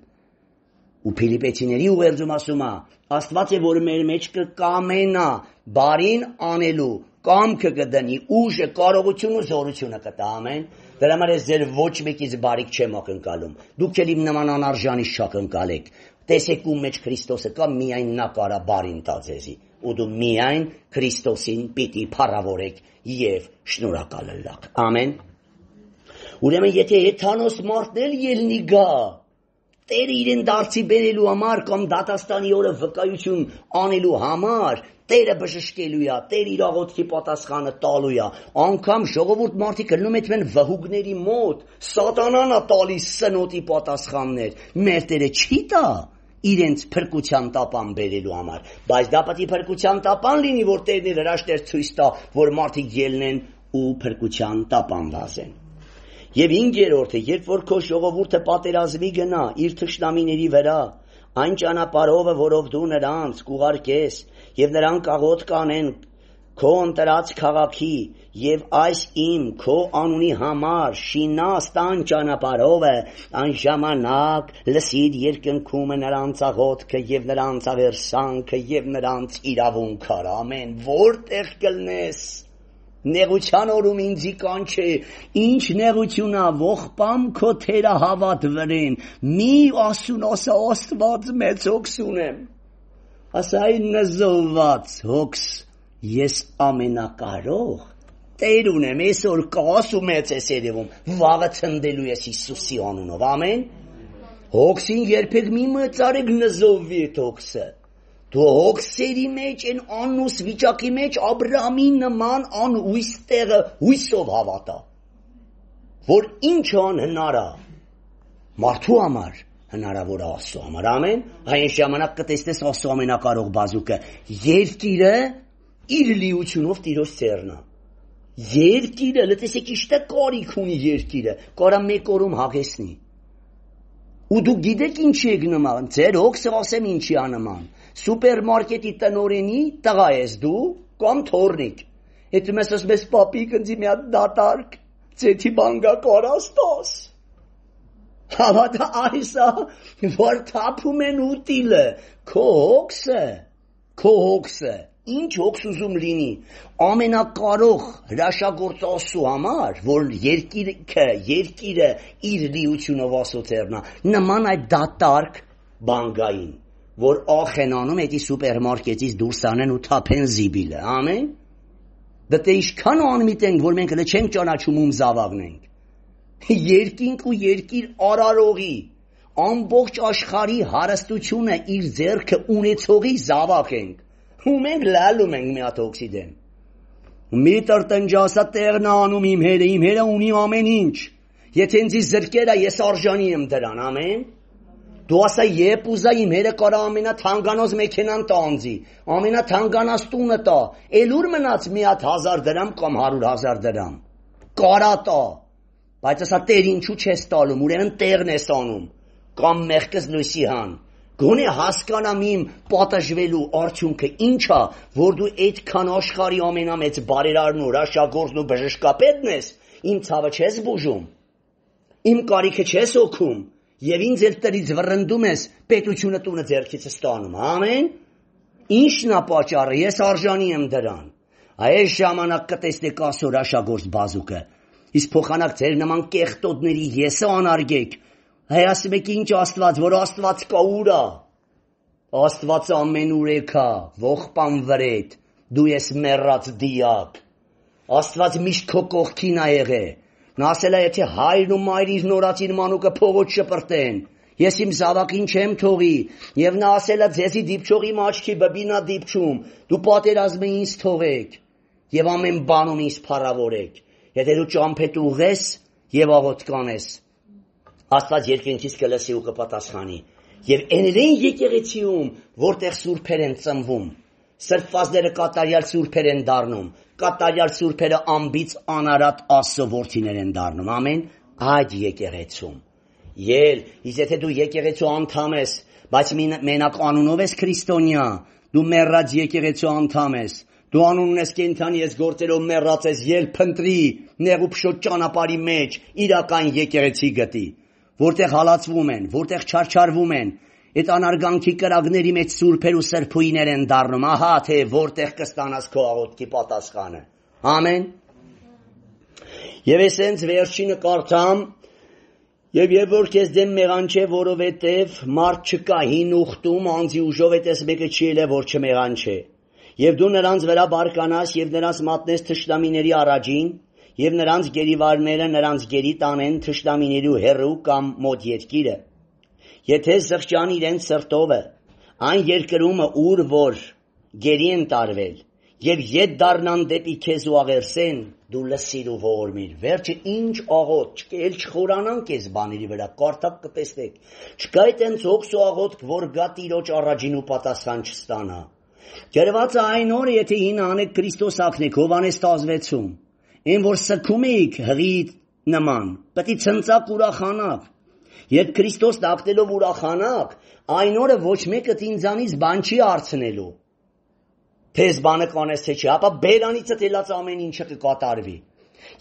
Ու Փիլիպեցիների ուղերձում ասում է, Աստված է, որ մեր մեջ կկամենա բարին անելու, կամքը կդնի, ուժը, կարողությունը, զորությունը կտա, ամեն։ Դրա համար ես ձեր ոչ մեկից բարիք չեմ ակնկալում։ Դուք էլ իմ նման անարժանից չակնկալեք։ Տեսեք ում մեջ Քրիստոսը կա, միայն նա կարա բարին տա ձեզի։ Ու դու միայն Քրիստոսին պիտի փառավորեք եւ շնորհակալ ըլլաք։ Ամեն։ Ուրեմն եթե հեթանոս մարդն էլ ելնի գա, Տերը իրեն դարձի բերելու համար կամ դատաստանի օրը վկայություն անելու համար, Տերը բժշկելու է, Տերը իր աղոթքի պատասխանը տալու է, անգամ ժողովուրդ մարդիկ գնում են վհուկների մոտ, սատանան է տալիս սնոտի պատասխաններ, մեր Տերը չի տա իրենց փրկության տապան բերելու համար, բայց դա պետք է փրկության տապան լինի, որ Տերն իր հրաշքներ ցույց տա, որ մարդիկ ելնեն ու փրկության տապան վազեն։ Եվ ինգերորդը, երբ որ քո ժողովուրդը պատերազմի գնա իր թշնամիների վրա, այն ճանապարհով, որով դու նրանց կուղարկես, եւ նրանք աղոթք կանեն քո ընտրած քաղաքի, եւ այս իմ քո անունի համար շինած տան ճանապարհով, այն ժամանակ լսիր երկնքումը նրանց աղոթքը եւ նրանց ավերսանքը եւ նրանց իրավունքը, ամեն, որտեղ կլնես Նեղության օրում ինձի կանչե, ինչ նեղություն ա, ողբամ քո թերա հավատ վրեն, մի ասուն ասա Աստված մեծ հոգս ունեմ, ասա այն նզովված հոգս, ես ամենակարող, Տեր ունեմ, այսօր կաս ու մեծ ես երևում, վաղը ցնդելու ես Հիսուսի անունով, ամեն, հոգսին երբեք մի մծարեք նզովվի այդ հոգսը, Դու հոգսերի մեջ, են անուս վիճակի մեջ Աբրահամի նման անհույս տեղը հույսով հավատա, որ ինչ անհնար է, մարդու համար հնարավոր է Աստծո համար, ամեն, այն ժամանակ կտեսնես Աստծո ամենակարող բազուկը, երկիրը իր լիությունով Տիրոջ ծերն է, երկիրը, լսեք իշտե կարիք ունի երկիրը, կարա մեկ օրում հագեցնի, ու դու գիտեք ինչի եք նման, ձեր հոգսը ասեմ ինչի է նման, սուպերմարկետի տնօրենի տղա ես դու կամ թորնիկ, եթե մեզ ասում ես պապիկ ընձի մի հատ դատարկ, ձեթի բանգա կարաս տաս, հավատա այսա, որ թափում են ուտիլը, քո հոգսը, քո հոգսը, ինչ հոգս ուզում լինի, ամենակարող հրաշագործ Աստծո համար, որ երկիրը, երկիրը իր լիությունով Աստծո ծերն է, նման այդ դատարկ բանգային, որ ախենանում էդի սուպերմարկետից դուրս անեն ու թափեն զիբիլը, ամեն, դե ինչքան անմիտ ենք, որ մենք հենց չենք ճանաչում ում զավակնենք, երկինք ու երկիր արարողի, ամբողջ աշխարհի հարստությունը իր ձեռքը ունեցողի զավակ ենք, ու մենք լալում ենք մի հատ հոգսի դեմ, մի տրտնջասա տեղն անում իմ հերը, իմ հերը ունի ամեն ինչ, եթե ինձ զրկերա ես արժանի եմ դրան, ամեն, Դու ասա երբ ուզա իմ հերը կարա ամենաթանկանոց մեքենան տանձի, ամենաթանկանաց տունը տա, էլ ուր մնաց մի հատ հազար դրամ կամ հարյուր հազար դրամ, կարա տա, բայց ասա տեր ինչու չես տալում, ուրեմն տեղն ես անում, կամ մեղքս լույսի հան, գոնե հասկանամ իմ պատժվելու արդյունքը ինչա, որ դու այդքան աշխարհի ամենամեծ բարերարն ու հրաշագործն ու բժշկապետն ես, իմ ցավը չես բուժում, իմ կարիքը չես օգում, եւ ինձ էլ տրից վռնդում ես պետությունը տունը ձեռքից ստանում, ամեն, ինչն է պատճառը, ես արժանի եմ դրան, այս ժամանակ կտեսնեք Աստծո հրաշագործ բազուկը, իսկ փոխանակ ձեր նման կեղտոտների եսը անարգեք, հայ ասում եք ինչ Աստված, որ Աստված կա ուր է, Աստված ամենուրեք է, ողբան վրետ, դու ես մեռած դիակ, Աստված միշտ քո կողքին է եղել, նա ասել է եթե հայրն ու մայրն իր նորածին մանուկը փողոց շպրտեն, ես իմ զավակին չեմ թողի, եւ նա ասել է ձեզի դիպչողի աչքի բբինա դիպչում, դու պատերազմը ինձ թողեք, եւ ամեն բանում ինձ փառավորեք, եթե դու ճամփետ ուղես եւ աղոթ կանես, Աստված երկնքից կլսի ու կպատասխանի, եւ այներեն եկեղեցիում, որտեղ սուրբեր են ծնվում, սրբվածները կատարյալ սուրբեր են դառնում, կատարյալ սուրբերը ամբից անարատ Աստծո որդիներ են դառնում, ամեն, այդ եկեղեցում, ել, իսկ եթե դու եկեղեցու անդամ ես, բայց մենակ անունով ես քրիստոնյա, դու մեռած եկեղեցու անդամ ես, դու անուն ունես կենդանի ես գործերով մեռած ես, ել փնտրի, նեղ ու փշոտ ճանապարհի մեջ, իրական եկեղեցի գտի, որտեղ հալածվում են, որտեղ չարչարվում են, այդ անարգանքի կրակների մեջ սուրբեր ու սրբույներ են դառնում, ահա թե որտեղ կստանաս քո աղոթքի պատասխանը, ամեն, եւ այսենց վերջինը կարդամ, եւ երբ որ քեզ դեմ մեղանչե, որովհետեւ մարդ չկա հին ուխտում, անձի ուժով էտես մեկը չի ելե, որ չմեղանչե, եւ դու նրանց վրա բարկանաս եւ նրանց մատնես թշնամիների առաջին, եւ նրանց գերիվարները նրանց գերի տանեն թշնամիների հեռու կամ մոտ երկիրը, եթե զղջան իրենց սրտովը, այն երկրումը ուր որ գերի են տարվել, եւ ետ դառնան դեպի քեզ ու աղերսեն, դու լսիր ու ողորմիր, վերջը ինչ աղոթք, չկա, էլ չխորանանք այս բաների վրա, կարդակ կտեսնեք, չկա այդենց հոգս ու աղոթք, որ գա Տիրոջ առաջին ու պատասխան չստանա, գրված է այն օրը, եթե հին անեք Քրիստոս ակնեք, Հովհաննես տասնվեցում, այն որ սգում էիք հղի նման, պետք է ցնծակ ուրախանաք, երբ Քրիստոս դակտելով ուրախանաք, այն օրը ոչ մեկը ինձանից բան չի հարցնելու, թեզ բանը կանես թե չի, ապա բերանիցը թելած ամեն ինչը կկատարվի,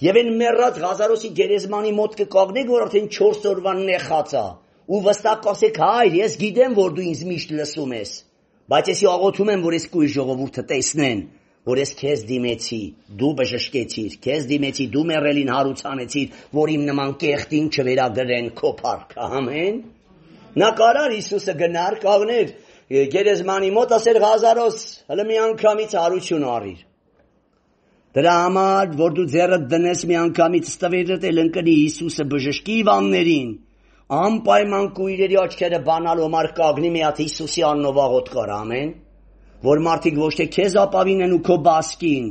եւ այն մեռած Ղազարոսի գերեզմանի մոտ կկանգնեք, որ արդեն չորս օրվա նեխած է, ու վստահ կասեք, հայր, ես գիտեմ, որ դու ինձ միշտ լսում ես, բայց ես աղոթում եմ, որ ես կույր ժողովուրդը տեսնեն, որ ես քեզ դիմեցի, դու բժշկեցիր, քեզ դիմեցի, դու մեռելին հարուցանեցիր, որ իմ նման կեղտին չվերագրեն քո փառքը, ամեն։ Նա կարար Հիսուսը գնար, կանգներ գերեզմանի մոտ, ասեր Ղազարոս, հələ մի անգամից հարություն առիր։ Դրա համար, որ դու ձեռդ դնես մի անգամից ստվերդ էլ ընկնի Հիսուսը բժշկի Իվաններին, անպայման կույրերի աչքերը բանալ օմար կագնի մի հատ Հիսուսի անունով աղոթք կար, ամեն, որ մարդիկ ոչ թե քեզ ապավինեն ու քո բասկին,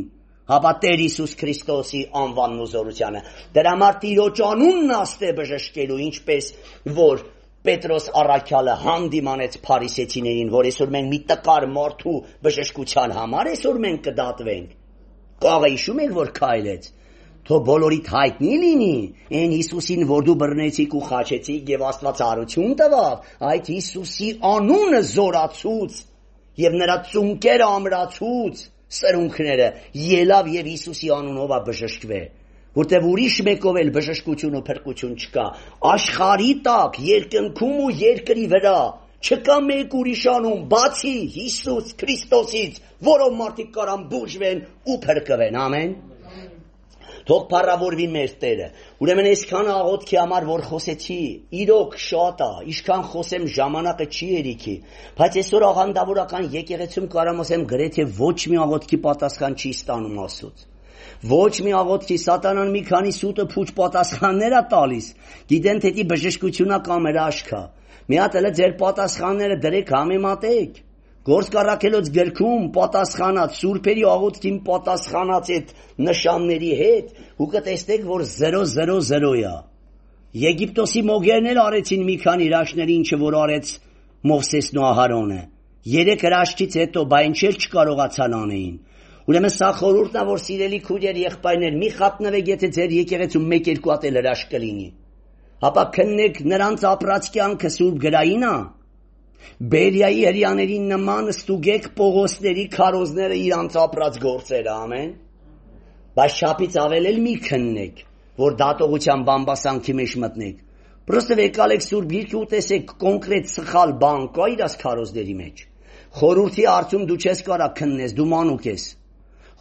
հապա Տեր Հիսուս Քրիստոսի անվանն ու զորությանը, դրա համար Տիրոջ անունն աստե բժշկելու, ինչպես որ Պետրոս առաքյալը հանդիմանեց փարիսեցիներին, որ այսօր մենք մի տկար մարդու բժշկության համար այսօր մենք կդատվենք, կաղը հիշում եք, որ քայլեց, թող բոլորիդ հայտնի լինի, այն Հիսուսին, որ դու բռնեցիք ու խաչեցիք եւ Աստված հարություն տվավ, այդ Հիսուսի անունը զորացուց եւ նրա ծունկերը ամրացուց, սրունքները ելավ եւ Հիսուսի անունով է բժշկվե, որտեւ ուրիշ մեկով էլ բժշկություն ու փրկություն չկա, աշխարհի տակ, երկնքում ու երկրի վրա չկա մեկ ուրիշ անուն, բացի Հիսուս Քրիստոսից, որով մարդիկ կարան բուժվեն ու փրկվեն, ամեն։ Թող փառավորվի մեր Տերը։ Ուրեմն այսքան աղոթքի համար որ խոսեցի, իրոք շատ է, ինչքան խոսեմ ժամանակը չի երիքի, բայց այսօր աղանդավորական եկեղեցում կարամ ասեմ գրեթե ոչ մի աղոթքի պատասխան չի ստանում Աստծուց։ Ոչ մի աղոթքի սատանան մի քանի սուտը փուչ պատասխաններ է տալիս, գիտեն թե դի բժշկությունա կամ հրաշքա։ Մի հատ էլ ձեր պատասխանները դրեք համեմատեք։ Գործ կառաքելոց գրքում պատասխանած սուրբերի աղոթքին պատասխանած այդ նշանների հետ ու կտեսնեք որ զերո զերո զերո է։ Եգիպտոսի մոգերն էլ արեցին մի քանի հրաշքներ, ինչը որ արեց Մովսեսն ու Ահարոնը։ Երեք հրաշքից հետո բա ինչ էլ չկարողացան անեին։ Ուրեմն սա խորհուրդն է, որ սիրելի քույրեր, եղբայրներ, մի խատնվեք, եթե ձեր եկեղեցում մեկ-երկու հատ էլ հրաշք կլինի։ Ապա քննեք նրանց ապրած կյանքը սուրբ գրային է։ Բերիայի հրեաներին նման ստուգեք Պողոսների քարոզները իրանց ապրած գործերը, ամեն։ Բայց չափից ավել էլ մի քննեք, որ դատողության բամբասանքի մեջ մտնեք։ Պրոստը եկալեք սուրբ գիրքը ու տեսեք կոնկրետ սխալ բան կա իրաց քարոզների մեջ։ Խորհրդի արդյունք դու չես կարա քննես, դու մանուկ ես։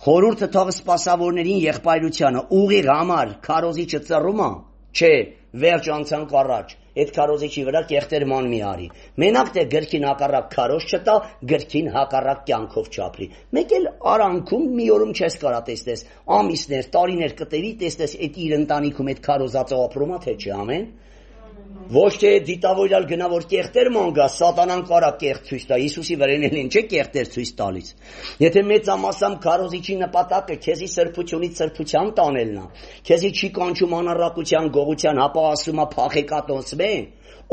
Խորհուրդը թող սպասավորներին եղբայրությանը ուղիղ համար քարոզիչը ծռում է, չէ, վերջ անցանք առաջ, այդ քարոզիչի վրա կեղտեր ման մի արի։ Մենակ թե գրքին հակառակ քարոզ չտա, գրքին հակառակ կյանքով չապրի։ Մեկ էլ արանքում մի օրում չես կարա տեսնես, ամիսներ, տարիներ կտևի տեսնես այդ իր ընտանիքում այդ քարոզածը ապրում է թե չէ, ամեն։ Ոչ թե դիտավորյալ գնա որ կեղտեր ման գա, սատանան կարա կեղտ ցույց տա, Հիսուսի վրան էլ ինչ է կեղտեր ցույց տալիս։ Եթե մեծամասամբ քարոզիչի նպատակը քեզի սրբությունից սրբության տանելն է, քեզի չի կանչում անառակության գողության, հապա ասում է փախեկատոնցվե,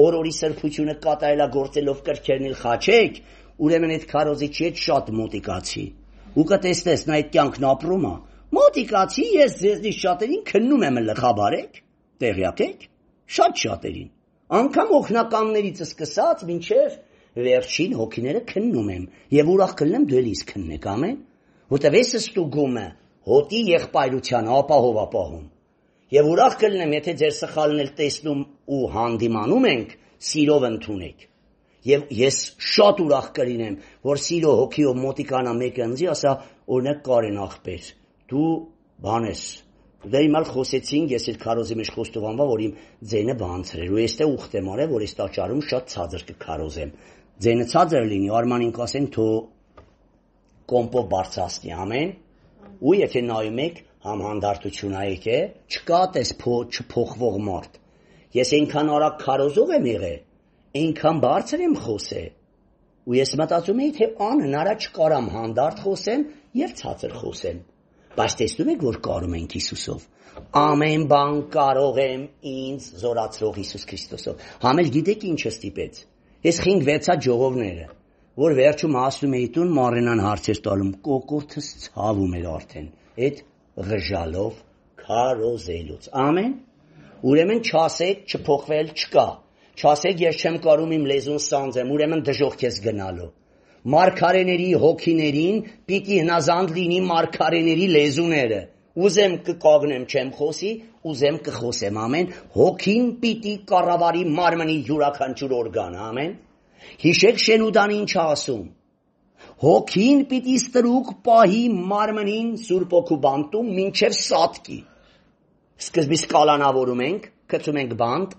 օրորի սրբությունը կատարելագործելով կրքերն էլ խաչեք, ուրեմն այդ քարոզիչի հետ շատ մոտիկացի։ Ու կտեսնես նա այդ կյանքն ապրում է։ Մոտիկացի, ես ձեզնից շատերին քննում եմ լխաբարեք, տեղյակ եք, շատ շատերին։ Անկամ օգնականներից սկսած մինչև վերջին հոգիները քննում եմ եւ ուրախ կլնեմ դու էլիս քննեք, ամեն, որտեւ ես ստուգումը հոտի եղբայրության ապահով ապահում եւ ուրախ կլնեմ, եթե ձեր սխալն էլ տեսնում ու հանդիմանում ենք, սիրով ընդունեք։ Եվ ես շատ ուրախ կլինեմ, որ սիրո հոգիով մոտիկանա մեկը ինձի, ասա, օրինակ Կարեն ախպեր, դու բան ես։ Դե իմալ խոսեցինք, ես էլ քարոզի մեջ խոստովանվա, որ իմ ձենը բանցր էր, ու ես թե ուխտ եմ արել, որ ես տաճարում շատ ցածր կքարոզեմ։ Ձենը ցածր լինի, Արմանին կասեն, թո կոմպով բարձրացնի, ամեն։ Ու եթե նայում եք, համ հանդարտություն ա եկե, չկա տես չփոխվող մարդ։ Ես այնքան արագ քարոզող եմ եղել, այնքան բարձր եմ խոսել։ Ու ես մտածում էի, թե անհնար չկարամ հանդարտ խոսեմ եւ ցածր խոսեմ։ Բայց տեսնում եք, որ կարում ենք Հիսուսով։ Ամեն բան կարող եմ ինձ զորացրող Հիսուս Քրիստոսով։ Համել գիտեք ինչը ստիպեց։ Ես խինգ վեցա ժողովները, որ վերջում ասում էի տուն Մարենան հարցեր տալում, կոկորտս ցավում էր արդեն։ Այդ ղժալով քարոզելուց։ Ամեն։ Ուրեմն չասեք, չփոխվել չկա։ Չասեք, ես չեմ կարում իմ լեզուն սանձեմ, ուրեմն դժոխք ես գնալու։ Մարգարեների հոգիներին պիտի հնազանդ լինի մարգարեների լեզուները։ Ուզեմ կկագնեմ չեմ խոսի, ուզեմ կխոսեմ, ամեն։ Հոգին պիտի կառավարի մարմնի յուրաքանչյուր օրգան, ամեն։ Հիշեք Շենուդան ինչ ասում։ Հոգին պիտի ստրուկ պահի մարմնին Սուրբ Օգու բանտում մինչև սատկի։ Սկզբից կալանավորում ենք, գցում ենք բանտ,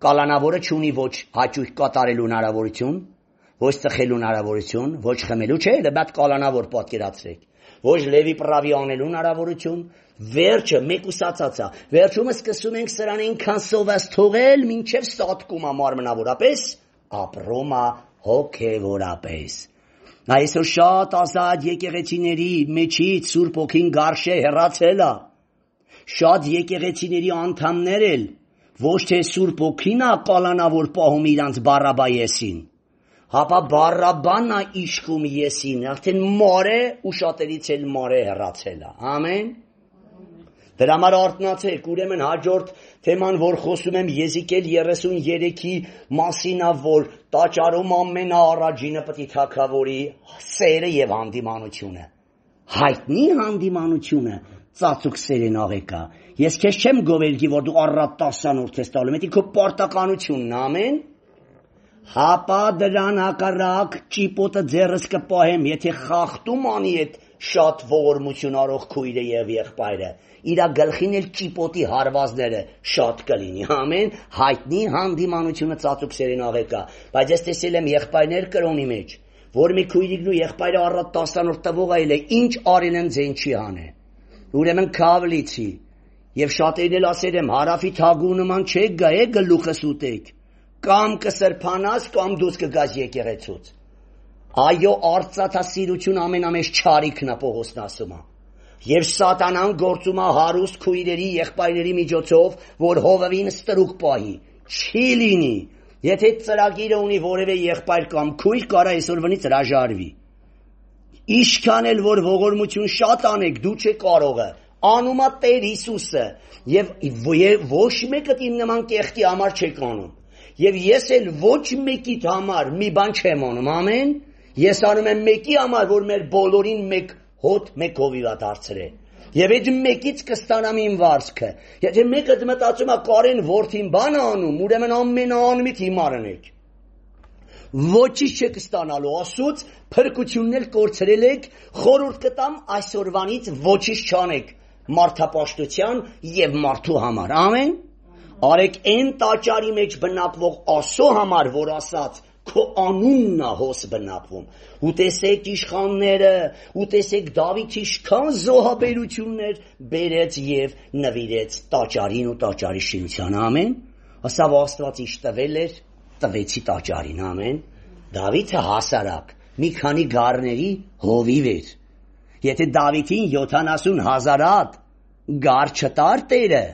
կալանավորը չունի ոչ հաճույք կատարելու հնարավորություն, ոչ ծխելու հնարավորություն, ոչ խմելու, չէ, լեբատ կալանավոր պատկերացրեք, ոչ լևի պրավի անելու հնարավորություն, վերջը մեկուսացած է, վերջումը սկսում ենք սրան այնքան սովաս թողել, մինչև սատկում է մարմնավորապես, ապրում է հոգևորապես։ Այսօր շատ ազատ եկեղեցիների մեջից Սուրբ Օգին գարշե հեռացել է, շատ եկեղեցիների անդամներ էլ ոչ թե Սուրբ Օգին է կալանավոր պահում իրանց Բարաբայեսին, հապա Բարաբանն է իշխում եսին, արդեն մար է ու շատերից էլ մար է հեռացել է, ամեն։ Դրա համար արթնացեք, ուրեմն հաջորդ թեման, որ խոսում եմ Եզիկել երեսուններեքի մասին է, որ տաճարում ամենաառաջինը պիտի թագավորի սերը եւ հանդիմանությունը։ Հայտնի հանդիմանությունը ծածուկ սերեն աղեկա։ Ես քեզ չեմ գովելգի, որ դու առատ տասանորդ ես տալու, մետի քո պարտականությունն ամեն։ Հապա դրան հակառակ ճիպոտը ձեռս կպահեմ, եթե խախտում անի այդ շատ ողորմություն արող քույրը եւ եղբայրը, իրա գլխին էլ ճիպոտի հարվածները շատ կլինի, ամեն, հայտնի հանդիմանությունը ծածուկ սերեն աղեկա, բայց ես տեսել եմ եղբայրներ կրոնի մեջ, որ մի քույրիկն ու եղբայրը առատ տասանորդ տվող այլ է, ինչ արել են ձեն չի անե, ուրեմն քավլիցի, եւ շատերին էլ ասել եմ, հարավի թագու նման չեք գա, է գլուխս ուտեք, կամ կսրբանաս, կամ դուս կգաս եկեղեցուց։ Այո, արծաթասիրություն ամենամեծ չարիքն է Պողոսն ասում է։ Եվ սատանան գործում է հարուստ քույրերի եղբայրների միջոցով, որ հովվին ստրուկ պահի։ Չի լինի։ Եթե ծրագիրը ունի որևէ եղբայր կամ քույր, կարա այսօրվանից հրաժարվի։ Ինչքան էլ որ ողորմություն շատ անեք, դու չեք կարողը։ Անում է Տեր Հիսուսը, եւ ոչ մեկը իմ նման կեղտի համար չեք անում։ Եվ ես էլ ոչ մեկիդ համար մի բան չեմ անում, ամեն։ Ես անում եմ մեկի համար, որ մեր բոլորին մեկ հոտ, մեկ հովիվ դարձրե։ Եվ այդ մեկից կստանամ իմ վարձքը։ Եթե մեկը մտածում է Կարեն որդին բան անում, ուրեմն ամենաանմիտ հիմարն եք։ Ոչինչ չեք ստանալու, ասուց փրկությունն էլ կորցրել եք, խորհուրդ կտամ այսօրվանից ոչինչ չանեք մարդապաշտության եւ մարդու համար։ Ամեն։ Արեք այն տաճարի մեջ բնակվող Աստծո համար, որ ասաց քո անունն է հոս բնակվում։ Ու տեսեք իշխանները, ու տեսեք Դավիթ ինչքան զոհաբերություններ բերեց եւ նվիրեց տաճարին ու տաճարի շինությանը, ամեն։ Ասավ Աստված ինչ տվել էր, տվեցի տաճարին, ամեն։ Դավիթը հասարակ մի քանի գառների հովիվ էր։ Եթե Դավիթին յոթանասուն հազարատ գառ չտար Տերը,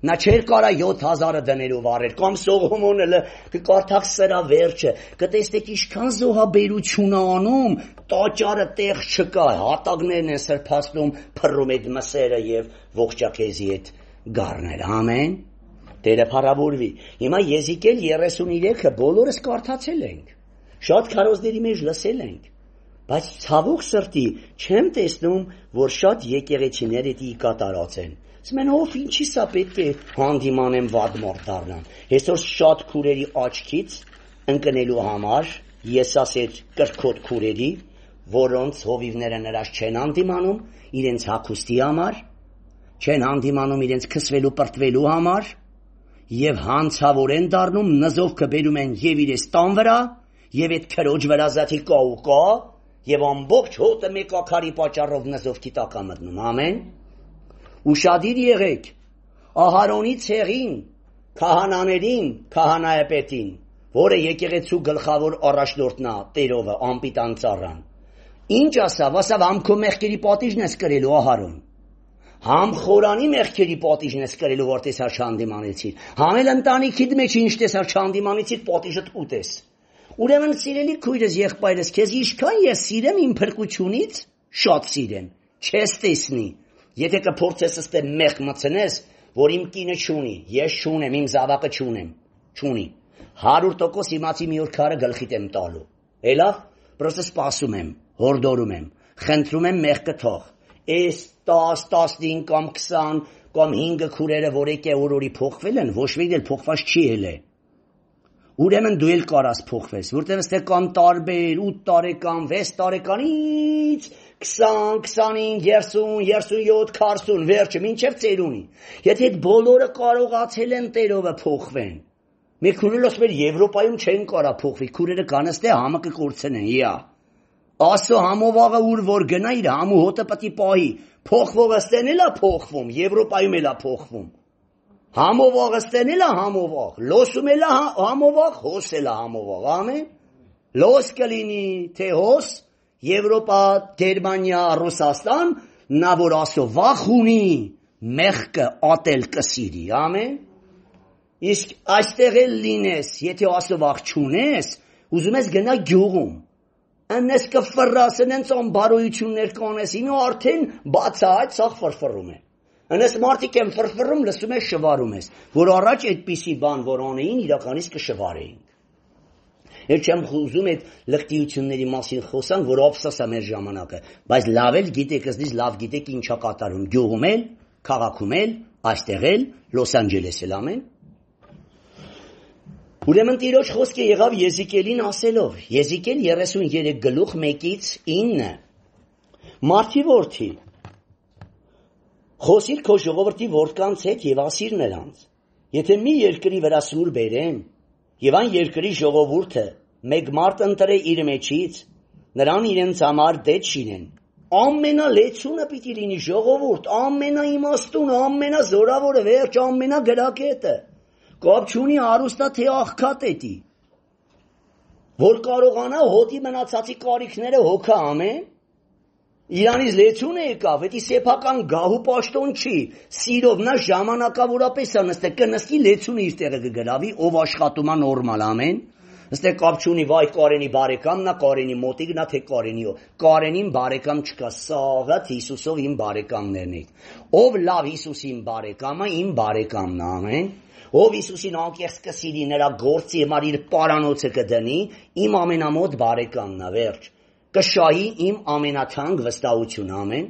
նա չէր կարա յոթ հազարը դներով առել, կամ Սողոմոնը կկարդաք սրա վերջը, կտեսնեք ինչքան զոհաբերություն է անում, տաճարը տեղ չկա, հատակներն են սրբացնում, փռում այդ մսերը եւ ողջակեզի այդ գառները, ամեն։ Տերը փառավորվի։ Հիմա Եզիկել երեսուններեքը բոլորս կարդացել ենք, շատ քարոզների մեջ լսել ենք, բայց ցավոք սրտի չեմ տեսնում, որ շատ եկեղեցիներ դա կատարած են։ Ասում ով ինչի սա պետք է հանդիմանեմ վատ մարդ դառնամ։ Այսօր շատ քուրերի աչքից ընկնելու համար ես ասել կրկոտ քուրերի, որոնց հովիվները նրանց չեն հանդիմանում իրենց հագուստի համար, չեն հանդիմանում իրենց քսվելու պրտվելու համար եւ հանցավոր են դառնում, նզովքը բերում են եւ իրենց տան վրա եւ այդ քրոջ վրա զաթի կա ու կա եւ ամբողջ հոտը մեկ ակարի պատճառով նզովքի տակ է մտնում, ամեն։ Ուշադիր եղեք Ահարոնի ցեղին, քահանաներին, քահանայապետին, որը եկեղեցու գլխավոր առաջնորդն է, Տերովը, անպիտան ծառան։ Ինչ ասավ, ասավ համ քո մեղքերի պատիժն ես կրելու Ահարոն, համ խորանի մեղքերի պատիժն ես կրելու, որ տեսար չհանդիմանեցիր, համ էլ ընտանիքիդ մեջ ինչ տեսար չհանդիմանեցիր, պատիժդ ուտես։ Ուրեմն սիրելի քույրս, եղբայրս, քեզ ինչքան ես սիրեմ իմ փրկությունից, շատ սիրեմ, չես տեսնի։ Եթե կփորձես ըստե մեղ մցնես, որ իմ կինը չունի, ես չունեմ, իմ զավակը չունեմ, չունի, հարյուր տոկոս իմացի մի օր քարը գլխիդ եմ տալու։ Էլավ, պրոստը սպասում եմ, հորդորում եմ, խնդրում եմ մեղքը թող։ Այս տաս, տասնհինգ կամ քսան կամ հինգը քուրերը, որ եկե օրորի փոխվել են, ոչ մեկ էլ փոխված չի ելե։ Ուրեմն դու էլ կարաս փոխվես, որտեղ ստե կամ տարբեր ութ տարեկան, վեց տարեկանից քսան, քսանհինգ, երեսուն, երեսունյոթ, քսան, վերջը մինչև ծերունի։ Եթե այդ բոլորը կարողացել են Տերովը փոխվեն, մեկ քուրել ասում էր Եվրոպայում չեն կարա փոխվի, քուրերը կան ստե համը կկորցնեն, իա։ Ասո համովաղը ուր որ գնա իր համու հոտը պտի պահի, փոխվողը ստեն էլա փոխվում, Եվրոպայում էլա փոխվում։ Համովաղը ստեն էլա համովաղ, լոսում էլա համովաղ, հոս էլա համովաղ, ամեն։ Լոս կլինի, թե հոս, Եվրոպա, Գերմանիա, Ռուսաստան, նա որ ասո վախ ունի, մեղքը ատել կսիրի, ամեն։ Իսկ այստեղ էլ լինես, եթե ասո վախ չունես, ուզում ես գնա գյուղում, անես կֆռաս, անենց ամբարոյություններ կանես, ինո արդեն բացահայտ սաղ ֆրֆռում է։ Անես մարդիկ են ֆրֆռում, լսում ես շվարում ես, որ առաջ այդպիսի բան, որ անեին, իրականից կշվարեինք։ Ես չեմ ուզում այդ լկտիությունների մասին խոսանք, որ ափսոս է մեր ժամանակը, բայց լավ էլ գիտեք, ըստիս լավ գիտեք ինչա կատարում, գյուղում էլ, քաղաքում էլ, այստեղ էլ, Լոս Անջելես էլ, ամեն։ Ուրեմն Տիրոջ խոսքը եղավ Եզիկելին ասելով, Եզիկել երեսունյոթ գլուխ մեկից ինը, մարդի որդի, խոսիր քո ժողովրդի որդկանց հետ եւ ասիր նրանց, եթե մի երկրի վրա սուր բերեմ, եւ այն երկրի ժողովուրդը մեկ մարդ ընտրե իր մեջից, նրան իրենց համար դետ շինեն, ամենալեցունը պիտի լինի ժողովուրդ, ամենաիմաստունը, ամենազորավորը, վերջ ամենագրակետը, կապ չունի հարուստա թե աղքատետի, որ կարողանա հոտի մնացածի կարիքները հոգա ամեն, Իրանից լեցուն է եկավ, էդի սեփական գահու պաշտոն չի, սիրով նա ժամանակավորապես է նստե, կնստի լեցունը իր տեղը կգրավի, ով աշխատում է նորմալ, ամեն, նստե կապ չունի, վայ Կարենի բարեկամն է, Կարենի մոտիկ նա, թե Կարենիո, Կարենին բարեկամ չկա, սաղաթ Հիսուսով իմ բարեկամներն եք, ով լավ Հիսուսին բարեկամը, իմ բարեկամն է, ամեն, ով Հիսուսին անկեղծ կսիրի, նրա գործի համար իր պարանոցը կդնի, իմ ամենամոտ բարեկամն է, վերջ, կշահի իմ ամենաթանկ վստահություն, ամեն,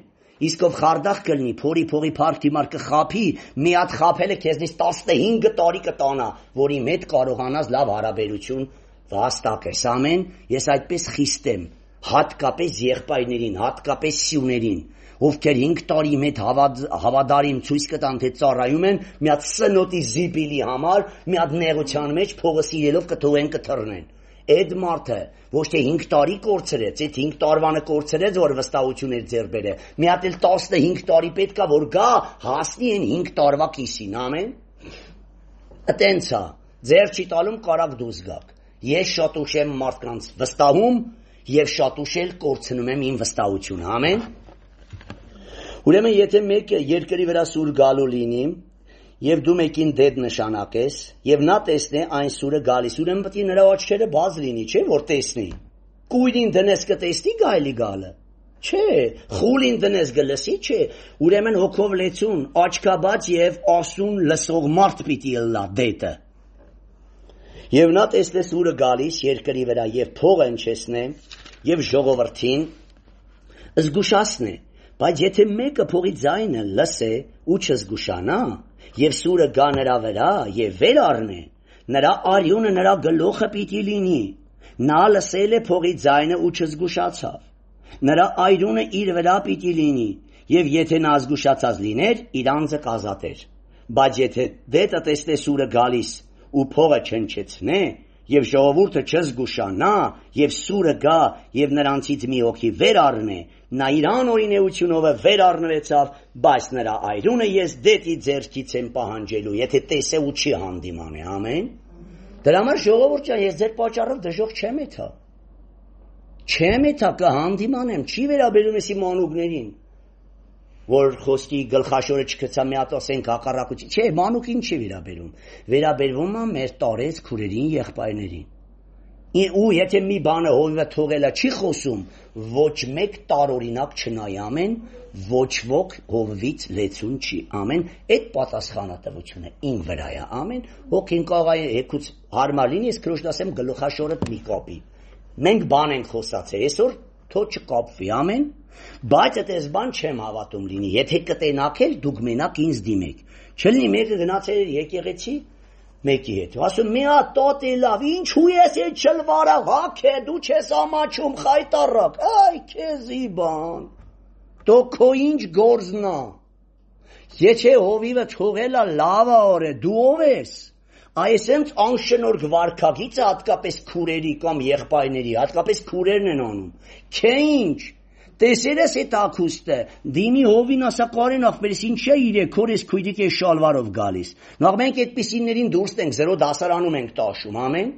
իսկ ով խարդախ կլնի, փորի փողի փառք դիմար կխափի, մի հատ խափելը քեզնից տասնհինգ տարի կտանա, որի մետ կարողանաս լավ հարաբերություն վաստակես, ամեն, ես այդպես խիստ եմ, հատկապես եղբայրներին, հատկապես սյուներին, ովքեր հինգ տարի մետ հավադարին ցույց կտան, թե ծառայում են, մի հատ սնոտի զիպիլի համար, մի հատ նեղության մեջ փողը սիրելով կթողեն կթռնեն։ Այդ մարդը ոչ թե հինգ տարի կորցրեց, այդ հինգ տարվանը կորցրեց, որ վստահություններ ձեռ բերե։ Մի հատ էլ տասնհինգ տարի պետք է որ գա, հասնի այն հինգ տարվա կիսին, ամեն։ Այտենց է, ձեռ չի տալում կարակ դուրս գաք։ Ես շատ ուշ եմ մարդկանց վստահում եւ շատ ուշ էլ կորցնում եմ իմ վստահությունը, ամեն։ Ուրեմն եթե մեկը երկրի վրա սուր գալու լինի, եւ դու մեկին դեդ նշանակես, եւ նա տեսնե այն սուրը գալիս, ուրեմն պետք է նրա աչքերը բաց լինի, չէ՞ որ տեսնի։ Կույրին դնես կտեսնի գայլի գալը։ Չէ, խուլին դնես գլսի, չէ։ Ուրեմն հոգով լեցուն, աչքաբաց եւ ասուն լսող մարդ պիտի ըլլա դետը։ Եվ նա տեսնե սուրը գալիս երկրի վրա եւ փողը ընչեսնե եւ ժողովրդին զգուշացնե, բայց եթե մեկը փողի ձայնը լսե ու չզգուշանա, եւ սուրը գա նրա վրա եւ վեր առնե, նրա արյունը նրա գլուխը պիտի լինի, նա լսել է փողի ձայնը ու չզգուշացավ, նրա արյունը իր վրա պիտի լինի, եւ եթե նա զգուշացած լիներ, իր անձը կազատեր, բայց եթե դետը տեսնե սուրը գալիս ու փողը չնչեցնե, եւ ժողովուրդը չզգուշանա, եւ սուրը գա եւ նրանցից մի հոգի վեր առնե, նա իր անօրինեությունով վեր առնվեցավ, բայց նրա այրունը ես դետի ձեռքից եմ պահանջելու, եթե տեսե ու չի հանդիմանե, ամեն։ Դրա համար ժողովուրդ ջան, ես ձեր պատճառով դժոխք չեմ եթա։ Չեմ եթա կհանդիմանեմ, չի վերաբերում էսի մանուկներին, որ խոսքի գլխաշորը չգցա մի հատ ասենք հակառակություն, չէ, մանուկին չի վերաբերում, վերաբերվում է մեր տարեց քուրերին, եղբայրներին։ Ու եթե մի բանը հովիվը թողելա չի խոսում, ոչ մեկ տարօրինակ չնայ, ամեն, ոչ ոք հովվից լեցուն չի, ամեն, այդ պատասխանատվությունը իմ վրա է, ամեն, հոգին կաղայ հեկուց հարմար լինի, ես քրոջն ասեմ գլխաշորդ մի կապի։ Մենք բան ենք խոսացել, այսօր թո չկապվի, ամեն, բայց այդպես բան չեմ հավատում լինի, եթե կտենաք էլ դուք մենակ ինձ դիմեք, չլինի մեկը գնացել էր եկեղեցի մեկի հետ, ասում մի հատ տոտ է լավ, ինչու ես այդ չլվարա, հակ է, դու չես ամաչում, խայտարակ, այ քեզի բան, դո քո ինչ գործնա, եթե հովիվը թողելա լավ է, դու ով ես, այսենց անշնորհ վարքագիծը հատկապես քուրերի կամ եղբայրների, հատկապես քուրերն են անում, չէ ինչ, տեսել ես այդ ակուստը, դիմի հովին ասա Կարեն ախպերս ինչ է իրեք, քոր ես քույրիկ ես շալվարով գալիս, նախ մենք այդպիսիներին դուրս ենք, զրո դասարանում ենք տաշում, ամեն,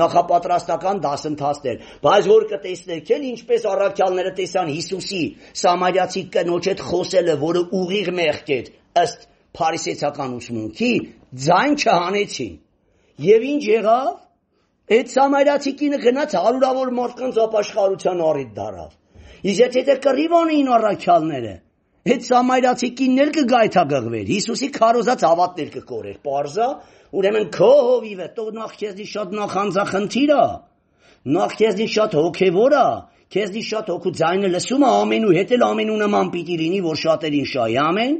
նախապատրաստական դասընթացներ, բայց որ կտեսնեք էլ ինչպես առաքյալները տեսան Հիսուսի սամարյացի կնոջ հետ խոսելը, որը ուղիղ մեղք էր, ըստ փարիսեցական ուսմունքի, ձայն չհանեցին, եւ ինչ եղավ, այդ սամարյացի կինը գնաց հարյուրավոր մարդկանց ապաշխարության առիթ դարավ, իսկ եթե կռիվ անեին առաքյալները, այդ սամարյացի կինն էլ կգայթակղվեր, Հիսուսի քարոզած հավատներ կկորեր, պարզա, ուրեմն քո հովիվը, տո նախ քեզնի շատ նախանձախնդիր է, նախ քեզնի շատ հոգևոր է, քեզնի շատ հոգու ձայնը լսում է ամենու հետ էլ ամենու նման պիտի լինի, որ շատերին շահի, ամեն,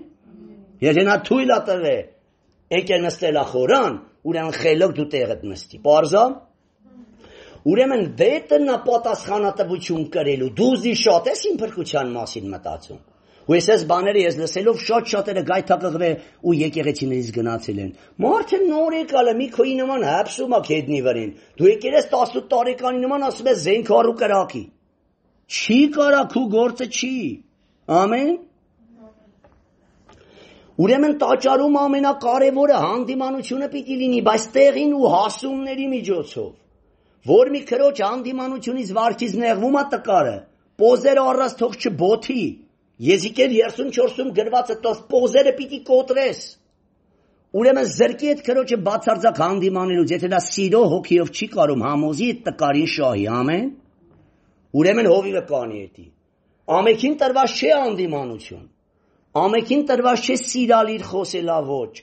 եթե նա թույլ է տվել, եկել նստել է խորան, ուրեմն խելոք դու տեղդ նստի, պարզա, ուրեմն դետը նա պատասխանատվություն կրելու, դուզի շատ ես իմ փրկության մասին մտածում, ու ես բաները ես լսելով շատ շատերը գայթակղվել ու եկեղեցիներից գնացել են, մարդը նոր եկալը մի քոյի նման հապսում ակ հետնի վրին, դու եկել ես տասնութ տարեկանի նման ասում ես զենքարու կրակի, չի կարա քու գործը չի, ամեն, ուրեմն տաճարում ամենակարևորը հանդիմանությունը պիտի լինի, բայց տեղին ու հասումների միջոցով, որ մի քրոջ հանդիմանությունից վարքից նեղվում է տկարը, Պոզերը առած թող չբոթի, Եզիկել երեսուն չորսում գրվածը տով պոզերը պիտի կոտրես, ուրեմն զրկի այդ քրոջը բացարձակ հանդիմանելուց, եթե նա սիրո հոգիով չի կարում համոզի այդ տկարին շահի, ամեն, ուրեմն հովիվը կանի էտի, ամեքին տրված չէ հանդիմանություն, ամեքին տրված չէ սիրալիր խոսելավոճ,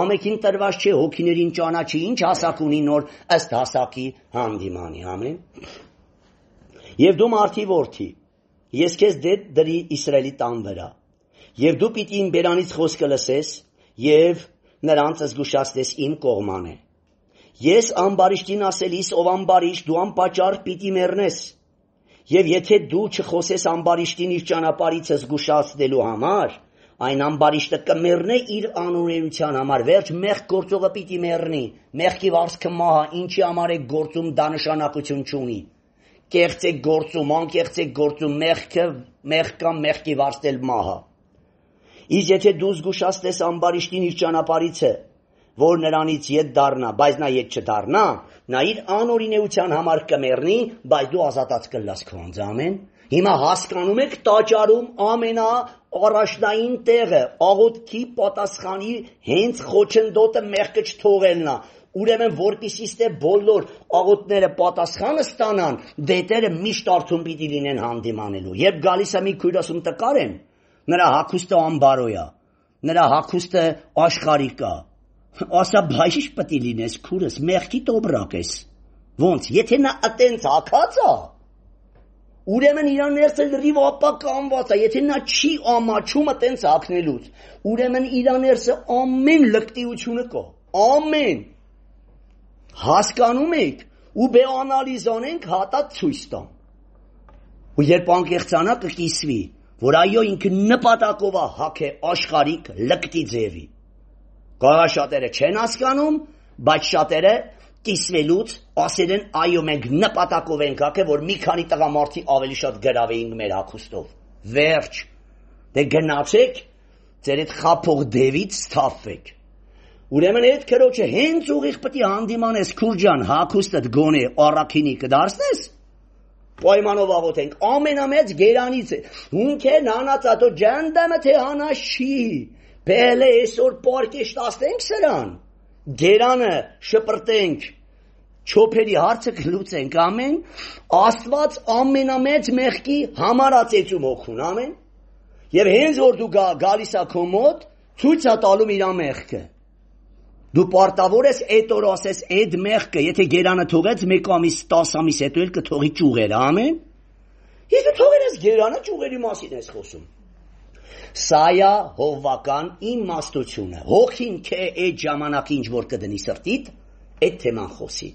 ամեքին տրված չէ հոգիներին ճանաչի, ինչ հասակ ունի նոր ըստ հասակի հանդիմանի, ամեն, և դու մարդի որդի, ես քեզ դետ դրի Իսրայելի տան վրա, և դու պիտի իմ բերանից խոսքը լսես, և նրանց զգուշացնես իմ կողմանը, ես ամբարիշտին ասելիս, ով ամբարիշտ, դու անպատճառ պիտի մեռնես, և եթե դու չխոսես ամբարիշտին իր ճանապարհից զգուշացնելու համար, այն ամբարիշտը կմեռնե իր անօրենության համար, վերջ մեղք գործողը պիտի մեռնի, մեղքի վարձքը մահա, ինչի համար է գործում դա նշանակություն չունի, կեղծ է գործում, անկեղծ է գործում, մեղքը մեղք կամ մեղքի վարձել մահա, իսկ եթե դու զգուշացնես ամբարիշտին իր ճանապարհիցը, որ նրանից ետ դառնա, բայց նա ետ չդառնա, նա իր անօրինեության համար կմեռնի, բայց դու ազատած կլաս քո անձը, ամեն, հիմա հասկանում եք տաճարում ամենաառաջնային տեղը, աղոթքի պատասխանի հենց խոչընդոտը մեղքը չթողելն է, ուրեմն որպեսզի ստե բոլոր աղոթները պատասխանը ստանան, դետերը միշտ արթուն պիտի լինեն հանդիմանելու, երբ գալիս է մի քույր ասում տկար եմ, նրա հագուստը ամբարոյ է, նրա հագուստը աշխարհիկ է, ասա բայիշ պիտի լինես քուրս, մեղքի տոբրակ ես, ոնց, եթե նա ըտենց հագած է, ուրեմն իր ներսը լրիվ ապականված է, եթե նա չի ամաչում ըտենց հագնելուց, ուրեմն իր ներսը ամեն լկտիությունը կա, ամեն, հասկանում եք, ու բե անալիզ անենք հատա ցույց տամ, ու երբ անկեղծանա կկիսվի, որ այո ինքը նպատակով է հագե աշխարհիկ լկտի ձևի, կարող շատերը չեն հասկանում, բայց շատերը կիսվելուց ասել են այո մենք նպատակով ենք հագե, որ մի քանի տղամարդի ավելի շատ գրավեինք մեր հագուստով, վերջ, դե գնացեք, ձեր այդ խափող դևից սթափվեք, ուրեմն այդ քրոջը հենց ուղիղ պիտի հանդիմանես քուրջան հագուստդ գոնե առաքինի կդարձնես, պայմանով աղոթենք, ամենամեծ գերանից է, հունքերն հանածատո ջանդամը թե հանած չի, բելե այսօր պարկեշտ ասենք սրան, գերանը շպրտենք, չոփերի հարցը կլուծենք, ամեն, Աստված ամենամեծ մեղքի համարացեցում օգուն, ամեն, և հենց որ դու գալիս ա քո մոտ, ցույց ա տալում իր մեղքը, դու պարտավոր ես այդ օր ասես այդ մեղքը, եթե գերանը թողեց մեկ ամիս, տաս ամիս հետո էլ կթողի ճյուղերը, ամեն, ես դու թողել ես գերանը ճյուղերի մասին ես խոսում, սա է հովվական իմաստությունը, հոգին քե այդ ժամանակի ինչ որ կդնի սրտիդ, այդ թեման խոսի,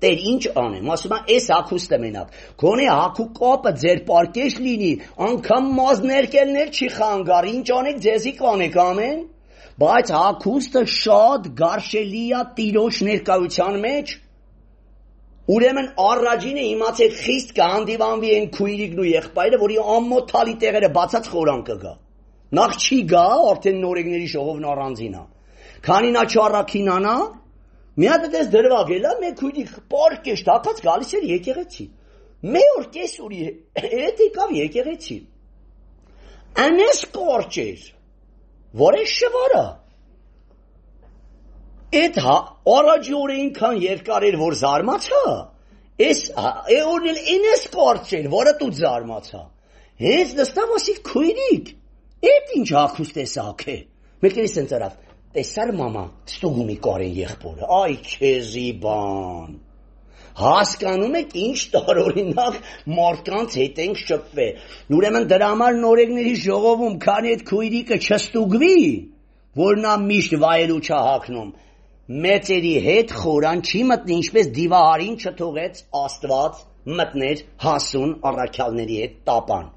Տեր ինչ անեմ, ասում է այս հագուստը մենակ, գոնե հագու կապը ձեր պարկեշ լինի, անգամ մազներկելներ չի խանգար, ինչ անեք ձեզի կանեք, ամեն, բայց հագուստը շատ գարշելի է տիրոջ ներկայության մեջ, ուրեմն առաջինը իմացեք խիստ կհանդիվանվի են քույրիկն ու եղբայրը, որի ամոթ թալի տեղերը բացած խորան կգա, նախ չի գա, արդեն նորեկների ժողովն առանձին է, քանի նա չառաքինանա, մի հատ դες դրվագելա, մեկ քույրիկ պարկեշտ հագած գալիս էր եկեղեցի, մի օր կես ուրի հետ եկավ եկեղեցի, անես կորճ էր, որ է շվարա, այդ առաջի օր այնքան երկար էր, որ զարմացա, այս օրն էլ ինես կորճ էր, որը դու զարմացա, հենց նստավ ասի քույրիկ, այդ ինչ հագուստ ես հագե, մեկերից են ծրավ, տեսար մամա, ստուգումի կարեն եղբորը, այ քեզի բան, հասկանում եք ինչ տարօրինակ մարդկանց հետ ենք շփվել, ուրեմն դրա համար նորեկների ժողովում, քանի այդ քույրիկը չստուգվի, որ նա միշտ վայելու չա հագնում, մեծերի հետ խորան չի մտնի, ինչպես դիվահարին չթողեց Աստված մտներ հասուն առաքյալների հետ տապան,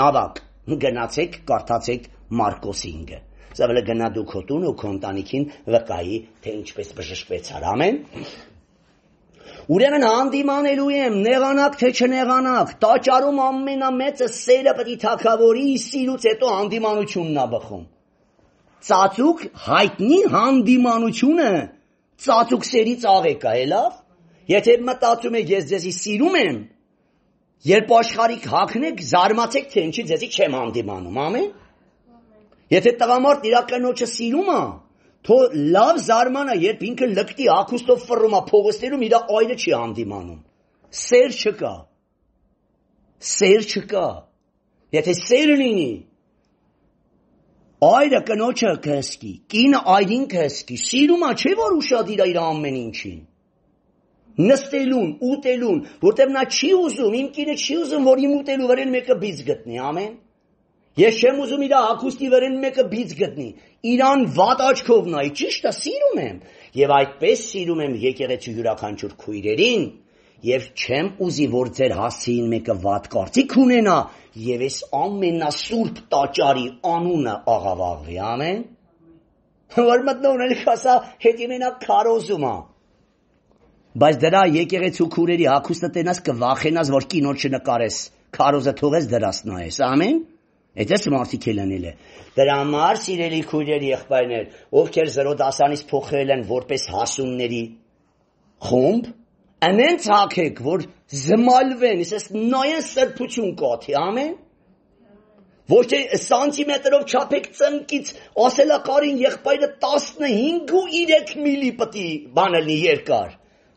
նավակ, գնացեք, կարդացեք Մարկոս ինգը, Սավելը գնա դու քո տուն ու քո ընտանիքին վկայի, թե ինչպես բժշկվեցար, ամեն, ուրեմն հանդիմանելու եմ, նեղանակ թե չնեղանակ, տաճարում ամենամեծը սերը պիտի թագավորի, սիրուց հետո հանդիմանությունն ա բխում, ծածուկ հայտնի հանդիմանությունը, ծածուկ սերի ծաղեկ է, լավ, եթե մտածում եք ես ձեզի սիրում եմ, Երբ աշխարհիկ հագնեք, զարմացեք, թե ինչի ձեզի չեմ հանդիմանում, ամեն։ Եթե տղամարդ իր կնոջը սիրում է, թո լավ զարմանա, երբ ինքը լկտի ակուստով ֆռում է փողոցներում, իր այրը չի հանդիմանում։ Սեր չկա։ Սեր չկա։ Եթե սեր լինի, այրը կնոջը կհսկի, կինը այրին կհսկի, սիրում է, չէ՞ որ ուշադիր է իր ամեն ինչին։ Նստելուն, ուտելուն, որտեղ նա չի ուզում, իմ կինը չի ուզում, որ իմ ուտելու վրան մեկը բիծ գտնի, ամեն։ Ես չեմ ուզում իր հագուստի վրան մեկը բիծ գտնի, իրան վատ աչքով նայի, ճիշտ է, սիրում եմ, եւ այդպես սիրում եմ եկեղեցու յուրաքանչյուր քույրերին, եւ չեմ ուզի, որ ձեր հասցեին մեկը վատ կարծիք ունենա, եւ այս ամենասուրբ տաճարի անունը աղավաղվի, ամեն։ Որ մտնողն էլ ասա, հետի մենակ քարոզում է։ Բայց դրա եկեղեցու քուրերի հագուստը տենաս կվախենաս, որ կինոջ չնկարես, քարոզը թողես դրաս նայես, ամեն։ Այդպես մարդիկ էլ անել է։ Դրա համար սիրելի քույրեր, եղբայրներ, ովքեր զրո դասանից փոխել են որպես հասունների խումբ, անենց հագեք, որ զմալվեն, իսես նայեն սրբություն կաթի, ամեն։ Ոչ թե սանտիմետրով չափեք ծնկից, ասելա կարին եղբայրը տասնհինգ միլի պտի բանալնի երկար։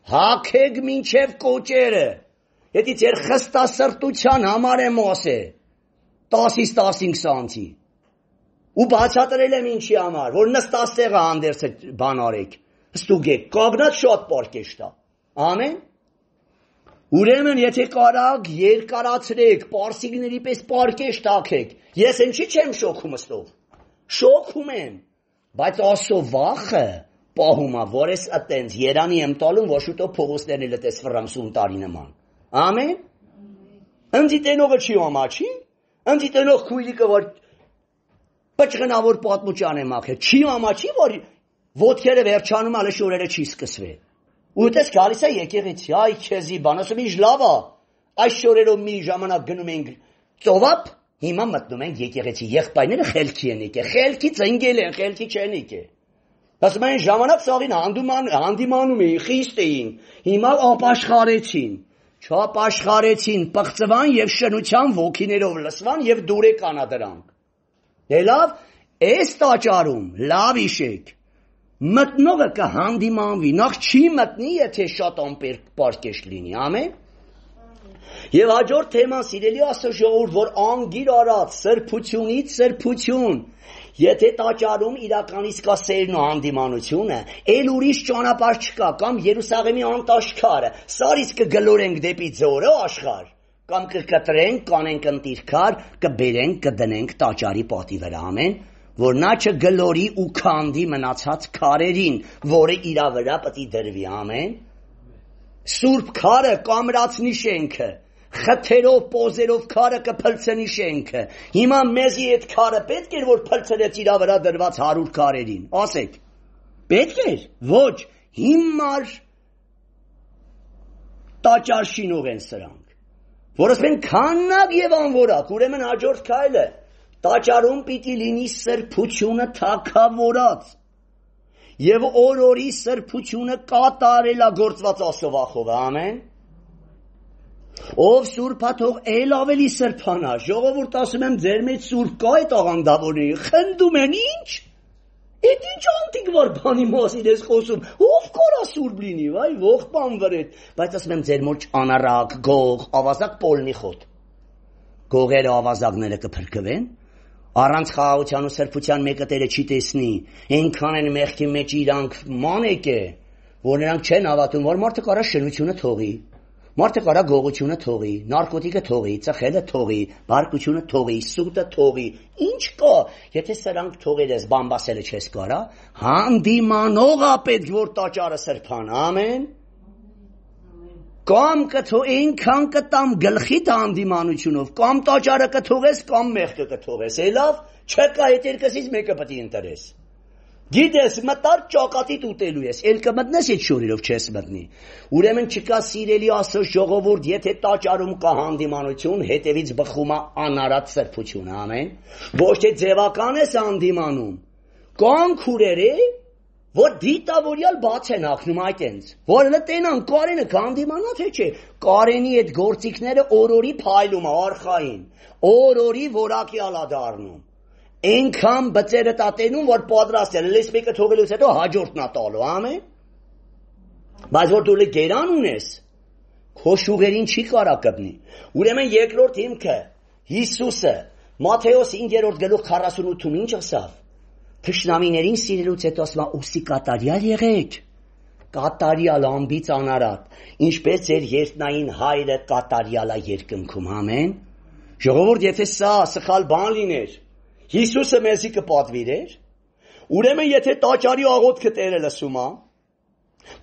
Հագեք մինչև կոճերը, եթե ձեր խստասրտության համար եմ ասել, տասից տասինգ սանտի, ու բացատրել եմ ինչի համար, որ նստասեղը հանդերձը բան արեք, ստուգեք, կագնած շատ պարկեշտ է, ամեն, ուրեմն եթե կարակ երկարացրեք, պարսիկների պես պարկեշտ հագեք, ես ինչի չեմ շոքում ստով, շոքում եմ, բայց ասո վախը, պահումա, որ ես ատենց երանի եմ տալում, որ շուտով փողոցներն էլ ատես ֆրամսում տարի նման, ամեն, ընձի տենողը չի ամաչի, ընձի տենող քույրիկը, որ պճղնավոր պատմուճան է մաքել, չի ամաչի, որ ոտքերը վերջանում ալը շորերը չի սկսվել, ու տես գալիս է եկեղեցի, այ քեզի բան, ասում ինչ լավ է, այս շորերով մի ժամանակ գնում ենք ծովապ, հիմա մտնում ենք եկեղեցի, եղբայրները խելքի են եկել, խելքի ծնգել են, խելքի չեն եկել։ Ասում են ժամանակ սաղին հանդիմանում էին, խիստ էին, հիմա ապաշխարեցին, չապաշխարեցին, պղծվան և շնության ոգիներով լսվան և դուր եկանա դրանք։ Դե լավ, այս տաճարում, լավ իշեք, մտնողը կհանդիմանվի, նախ չի մտնի, եթե շատ ամպեր պարկեշտ լինի, ամեն։ Եվ հաջորդ թեման, սիրելի Աստծո ժողովուրդ, որ անգիր արած, սրբությունից սրբություն, եթե տաճարում իրականից կա սերն ու հանդիմանությունը, էլ ուրիշ ճանապարհ չկա, կամ Երուսաղեմի անտաշքարը, սարից կգլորենք դեպի ձորը աշխարհ, կամ կկտրենք, կանենք ընտիրքար, կբերենք, կդնենք տաճարի պատի վրա, ամեն, որ նա չգլորի ու քանդի մնացած քարերին, որը իր վրա պետք է դրվի, ամեն։ Սուրբ քարը կամրացնի շենքը, խթերով, պոզերով քարը կփլցնի շենքը, հիմա մեզի այդ քարը պետք էր, որ փլցրեց իր վրա դրված հարյուր քարերին, ասեք, պետք էր, ոչ, հիմար տաճար շինող են սրանք, որ ասեն քաննակ և անվորակ, ուրեմն հաջորդ քայլը, տաճարում պիտի լինի սրբությունը թագավորած, և օր-օրի սրբությունը կատարելագործված Աստծո, ամեն։ Ով սուրբա թող էլ ավելի սրբանա, ժողովուրդ ասում եմ ձեր մեջ սուրբ կա այդ աղանդավորների, խնդում են ինչ, այդ ինչ անտիկվար բանի մասին ես խոսում, ով կարա սուրբ լինի, վայ, ողբան վրետ, բայց ասում եմ ձեր մոջ անարակ, գող, ավազակ պոլնի խոտ, գողերը ավազակները կփրկվեն, առանց խաղաղության ու սրբության մեկը տերը չի տեսնի, այնքան են մեղքի մեջ իրանք մանեկ է, որ նրանք չեն հավատում, որ մարդը կարա շնությունը թողի, մարդը կարա գողությունը թողի, նարկոտիկը թողի, ծխելը թողի, բարկությունը թողի, սուտը թողի, ինչ կա, եթե սրանք թողել ես, բամբասելը չես կարա, հանդիմանող է պետք, որ տաճարը սրբան, ամեն, կամ կթո այնքան կտամ գլխիդ հանդիմանությունով, կամ տաճարը կթողես, կամ մեղքը կթողես, էլավ, չկա այդ երկսից մեկը պետք է ընտրես։ Գիտես, մտար ճակատիդ ուտելու ես, էլ կմտնես այդ շորերով չես մտնի։ Ուրեմն չկա սիրելի Աստծո ժողովուրդ, եթե տաճարում կա հանդիմանություն, հետևից բխում է անարատ սրբություն, ամեն։ Ոչ թե ձևական ես հանդիմանում, կան քուրերը, որ դիտավորյալ բաց են ակնում այդ ենց, որ լտենան կարենը կանդիմանա թե չէ, կարենի այդ գործիքները օրորի փայլում է արխային, օրորի որակյալա դառնում, այնքան բծերը տատենում, որ պատրաստ է, լես մեկը թողելուց հետո հաջորդն է տալու, ամեն, բայց որ դու լի գերան ունես, քո շուղերին չի կարա կպնի, ուրեմն երկրորդ հիմքը, Հիսուսը, Մատթեոս հինգերորդ գլուխ քառասունութում ինչ ասավ, թշնամիներին սիրելուց հետո ասում է ուսի կատարյալ եղեք, կատարյալ ամբից անարատ, ինչպես ձեր երկնային հայրը կատարյալ է երկնքում, ամեն, ժողովուրդ, եթե սա սխալ բան լիներ, Հիսուսը մեզի կպատվիրեր, ուրեմն եթե տաճարի աղոթքը Տերը լսում է,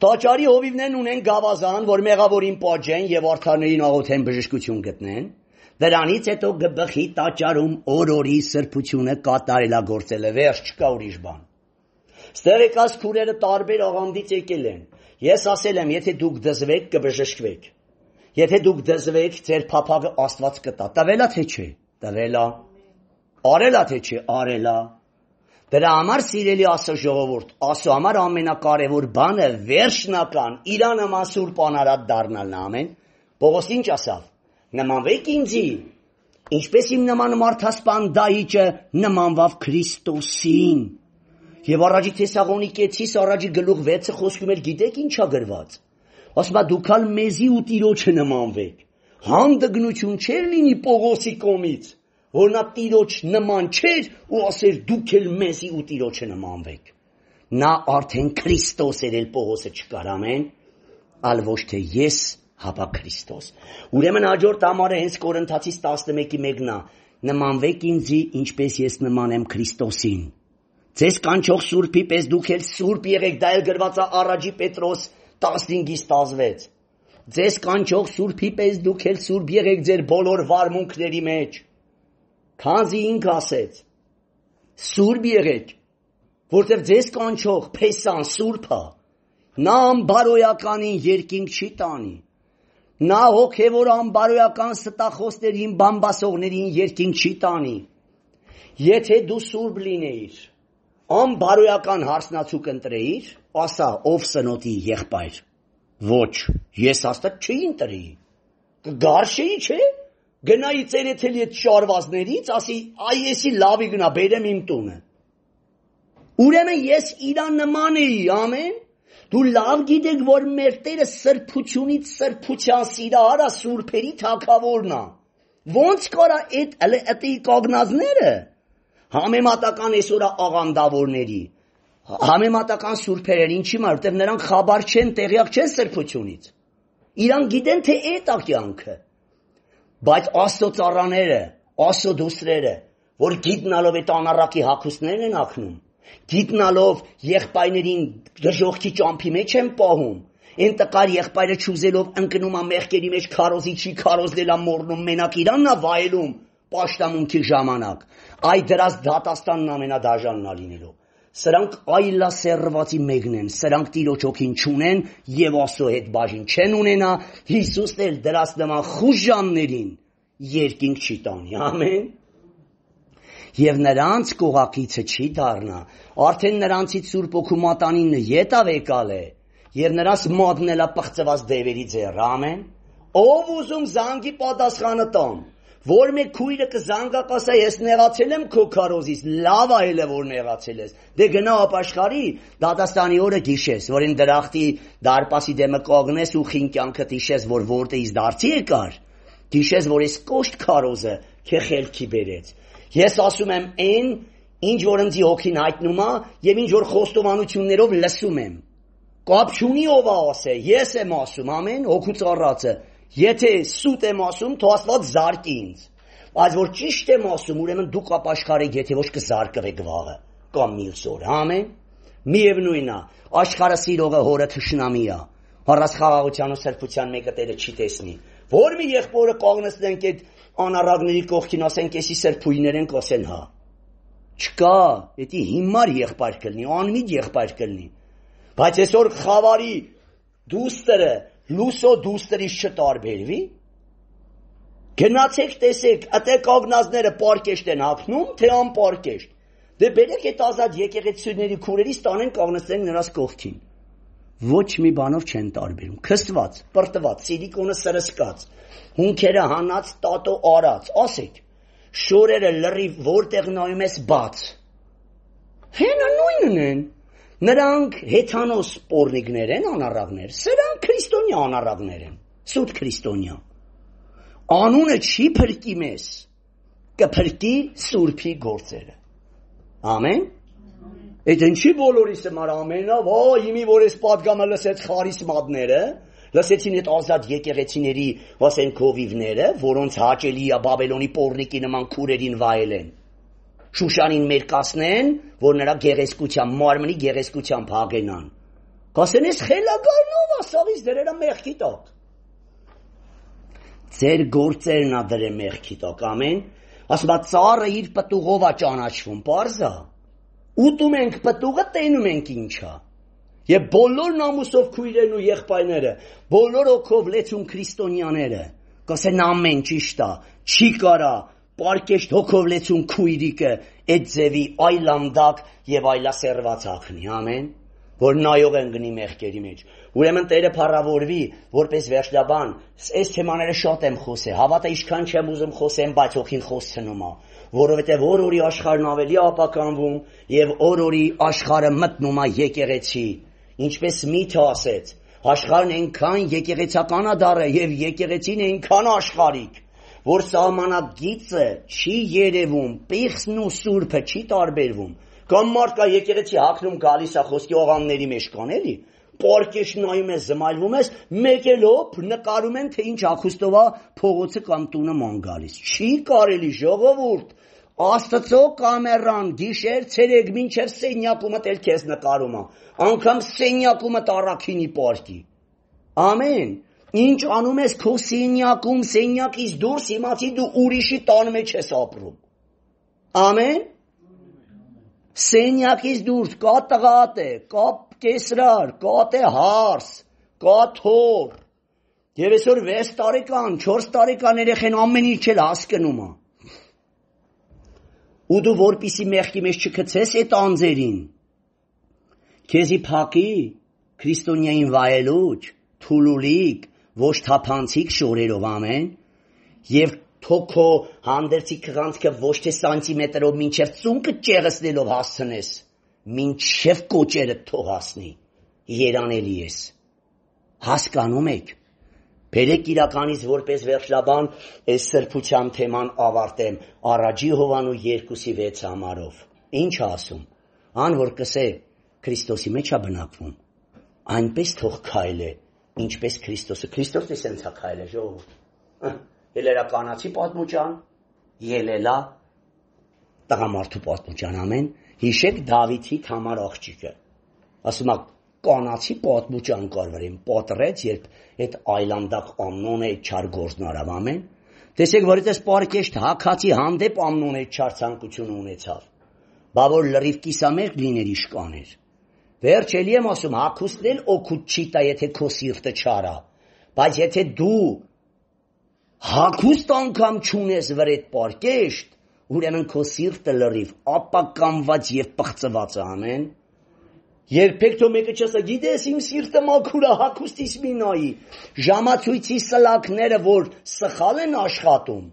տաճարի հովիվներն ունեն գավազան, որ մեղավորին պատժեն եւ արդարներին աղոթեն բժշկություն գտնեն, դրանից հետո գբխի տաճարում օրորի սրբությունը կատարելագործելը, վերջ չկա ուրիշ բան։ Ստեղ եկած քուրերը տարբեր աղանդից եկել են։ Ես ասել եմ, եթե դուք դզվեք, կբժշկվեք։ Եթե դուք դզվեք, ձեր փափագը Աստված կտա։ Տվելա թե չէ։ Տվելա։ Արելա թե չէ, արելա։ Դրա համար սիրելի Աստծո ժողովուրդ, Աստծո համար ամենակարևոր բանը վերջնական իրա նման սուրբ անարատ դառնալն է, ամեն։ Պողոս ինչ ասավ։ Նմանվեք ինձի, ինչպես իմ նման մարդասպան Դավիթը նմանվավ Քրիստոսին։ Եվ առաջի Թեսաղոնիկեցիս առաջի գլուխ վեցը խոսքում էր, գիտեք ինչա գրված։ Ասում է դուք ալ մեզի ու Տիրոջը նմանվեք։ Հանդգնություն չէր լինի Պողոսի կողմից, որ նա Տիրոջ նման չէր ու ասեր դուք էլ մեզի ու Տիրոջը նմանվեք։ Նա արդեն Քրիստոս էր, էլ Պողոսը չկար, ամեն, ալ ոչ թե ես, հապա Քրիստոս։ Ուրեմն հաջորդ համարը հենց Կորինթացիս տասնմեկի մեկն է, նմանվեք ինձի, ինչպես ես նման եմ Քրիստոսին։ Ձեզ կանչող Սուրբի պես դուք էլ Սուրբ եղեք, դա էլ գրված է առաջի Պետրոս տասնհինգից տասնվեց։ Ձեզ կանչող Սուրբի պես դուք էլ Սուրբ եղեք ձեր բոլոր վարմունքների մեջ։ Քանզի ինք ասեց. Սուրբ եղեք, որտեղ ձեզ կանչող Փեսան Սուրբը, նա անբարոյականին երկինք չի տանի։ Նա հոգևոր անբարոյական ստախոսներին, բամբասողներին երկինք չի տանի։ Եթե դու սուրբ լինեիր, անբարոյական հարսնացուկ ընտրեիր, ասա ով սնոտի եղբայր։ Ոչ, ես Աստված չի ընտրի։ Կգարշեի, չէ։ Գնայի ծերեթելի այդ շարվածներից, ասի այ եսի լավի գնա, բերեմ իմ տունը։ Ուրեմն ես իրան նման էի, ամեն։ Դու լավ գիտեք, որ մեր Տերը սրբությունից սրբության սիրահար է, սուրբերի թագավորն է։ Ոնց կարա այդ այդ կողնածները համեմատական այսօր աղանդավորների, համեմատական սուրբերեր, ինչի մար, որտեղ նրանք խաբար չեն, տեղյակ չեն սրբությունից։ Իրան գիտեն, թե այդ է կյանքը։ Բայց Աստծո ծառաները, Աստծո դուստրերը, որ գիտնալով այդ անառակի հագուստներն են ակնում, գիտնալով եղբայրներին դժոխքի ճամփի մեջ են պահում, այն տկար եղբայրը չուզելով ընկնում է մեղքերի մեջ, քարոզի չի քարոզել է մոռնում, մենակ իրանն է վայելում պաշտամունքի ժամանակ։ Այ դրած դատաստանն ամենադաժանն է լինելու։ Սրանք այլասերվածի մեկն են, սրանք Տիրոջ հոգին չունեն եւ Աստծո հետ բաժին չեն ունենա, Հիսուսն էլ դրած նման խուժաններին երկինք չի տանի, ամեն։ Եվ նրանց կողակիցը չի դառնա, արդեն նրանցից Սուրբ Օգու մատանին ետավ եկալ է, եւ նրանց մատն էլա պղծված դևերի ձեռ, ամեն։ Ով ուզում զանգի պատասխանը տամ, որ մեկ քույրը կզանգա կասա ես նեղացել եմ քո քարոզից, լավ է հելը որ նեղացել ես, դե գնա ապաշխարի, դատաստանի օրը գիշես, որ այն դրախտի դարպասի դեմը կողնես ու խինկյանքը տիշես, որ որտեղից դարձի եկար, գիշես, որ ես կոշտ քարոզը քե խելքի բերեց։ Ես ասում եմ այն, ինչ որ ինձ հոգին հայտնում է եւ ինչ որ խոստովանություններով լսում եմ։ Կապ չունի ով է ասե, ես եմ ասում, ամեն, հոգու ծառացը։ Եթե սուտ եմ ասում, թող Աստված զարկի ինձ։ Բայց որ ճիշտ եմ ասում, ուրեմն դուք ապաշխարեք, եթե ոչ կզարկվեք վաղը կամ մյուս օրը, ամեն։ Միևնույնն է, աշխարհը սիրողը հորը թշնամի է։ Առանց խաղաղության ու սրբության մեկը Տերը չի տեսնի։ Որ մի եղբորը կողնեցնենք այդ անառակների կողքին, ասենք էսի սրբույներ են կասեն, հա։ Չկա, դա հիմար եղբայր կլինի, անմիջ եղբայր կլինի։ Բայց այսօր խավարի դուստրը լուսո դուստրից չտարբերվի։ Գնացեք տեսեք, ըտե կողնածները պարկեշտ են հագնում, թե անպարկեշտ։ Դե բերեք այդ ազատ եկեղեցիների քուրերից տանեն կանգնեցնենք նրանց կողքին։ Ոչ մի բանով չեն տարբերում։ Քստված, պրտված, սիլիկոնը սրսկած, հունքերը հանած, տատո արած, ասեք, շորերը լրիվ որտեղ նայում ես բաց։ Հենա նույնն են։ Նրանք հեթանոս պորնիկներ են, անառավներ, սրանք քրիստոնյա անառավներ են, սուտ քրիստոնյա։ Անունը չի փրկի մեզ, կփրկի Սուրբի գործերը։ Ամեն։ Այդ ինչի բոլորիս համար ամենա, վա, իմի որ ես պատգամը լսեց խարիսմատները, լսեցին այդ ազատ եկեղեցիների, ասեն քովիվները, որոնց հաճելի է Բաբելոնի պորնիկի նման քուրերին վայելեն։ Շուշանին մերկացնեն, որ նրա գեղեցկության, մարմնի գեղեցկության փաղենան։ Կասեն ես խելագարնով ասաղից դրերա մեղքի տակ։ Ձեր գործերն ա դրե մեղքի տակ, ամեն։ Ասում ա ծառը իր պտուղով ա ճանաչվում, պարզա։ Ուտում ենք պտուղը, տենում ենք ինչա։ Եվ բոլոր նամուսով քույրերն ու եղբայրները, բոլոր օքով լեցուն քրիստոնյաները, կասեն ամեն ճիշտ ա, չի կարա պարկեշտ հոգով լեցուն քույրիկը այդ ձևի այլանդակ եւ այլասերված ակնի, ամեն, որ նայող են գնի մեղքերի մեջ։ Ուրեմն Տերը փառավորվի, որպես վերջնաբան, այս թեմաները շատ եմ խոսել, հավատա ինչքան չեմ ուզում խոսեմ, բայց հոգին խոսցնում ա, որովհետեւ օր-օրի աշխարհն ավելի ապականվում եւ օր-օրի աշխարհը մտնում ա եկեղեցի, ինչպես Միթը ասեց, աշխարհն այնքան եկեղեցական ա դառը եւ եկեղեցին այնքան աշխարհիկ, որ սահմանագիծը չի երևում, պիղծն ու սուրբը չի տարբերվում։ Կամ մարդ կա եկեղեցի հագնում գալիս է խոսքի ողամների մեջ կան էլի, պարկեշ նայում ես, զմայլվում ես, մեկելով նկարում են, թե ինչ ախուստով է փողոցը կամ տունը ման գալիս։ Չի կարելի ժողովուրդ, Աստծո կամերան գիշեր ցերեկ մինչև սենյակումը ել քեզ նկարում է, անգամ սենյակումը տառաքինի պարկի։ Ամեն։ Ինչ անում ես քո սենյակում, սենյակից դուրս իմացի դու ուրիշի տան մեջ ես ապրում։ Ամեն։ Սենյակից դուրս կա տղատե, կա կեսրար, կա տե հարս, կա թոր։ Եվ այսօր վեց տարեկան, չորս տարեկան երեխեն ամեն ինչ էլ հասկնում է։ Ու դու որպիսի մեղքի մեջ չգցես այդ անձերին։ Քեզի փակի, քրիստոնյային վայելուչ, թուլուլիկ, ոչ թափանցիկ շորերով, ամեն, եւ թոքո հանդերձի քղանցքը ոչ թե սանտիմետրով մինչև ծունկը ճեղսնելով հասցնես, մինչև կոճերը թող հասնի, երանելի ես, հասկանում եք, բերեք իրականից որպես վերջնաբան այս սրբության թեման ավարտեմ առաջի Հովանու երկուսի վեց համարով, ինչ ասում, ան որ կսե Քրիստոսի մեջ է բնակվում, այնպես թող քայլե, ինչպես Քրիստոսը, Քրիստոսը սենց է քայլե, ժողովուրդ, ելելա կանացի պատմուճան, ելելա տղամարդու պատմուճան, ամեն, հիշեք Դավիթի Թամար աղջիկը, ասում է կանացի պատմուճան կար վրեն, պատրեց, երբ այդ այլանդակ Ամնոնը այդ չար գործն արավ, ամեն, տեսեք, որ այդպես պարկեշտ հակացի հանդեպ Ամնոնը այդ չար ցանկությունը ունեցավ, բա որ լրիվ կիսամերկ լիներ իշխաներ, վերջ էլի եմ ասում, հագուստն էլ օգուտ չի տա, եթե քո սիրտը չար ա, բայց եթե դու հագուստ անգամ չունես վր այդ պարկեշտ, ուրեմն քո սիրտը լրիվ ապականված եւ պղծված է, ամեն։ Երբեք թո մեկը չասա, գիտես իմ սիրտը մաքուր է, հագուստիս մի նայի, ժամացույցի սլակները, որ սխալ են աշխատում,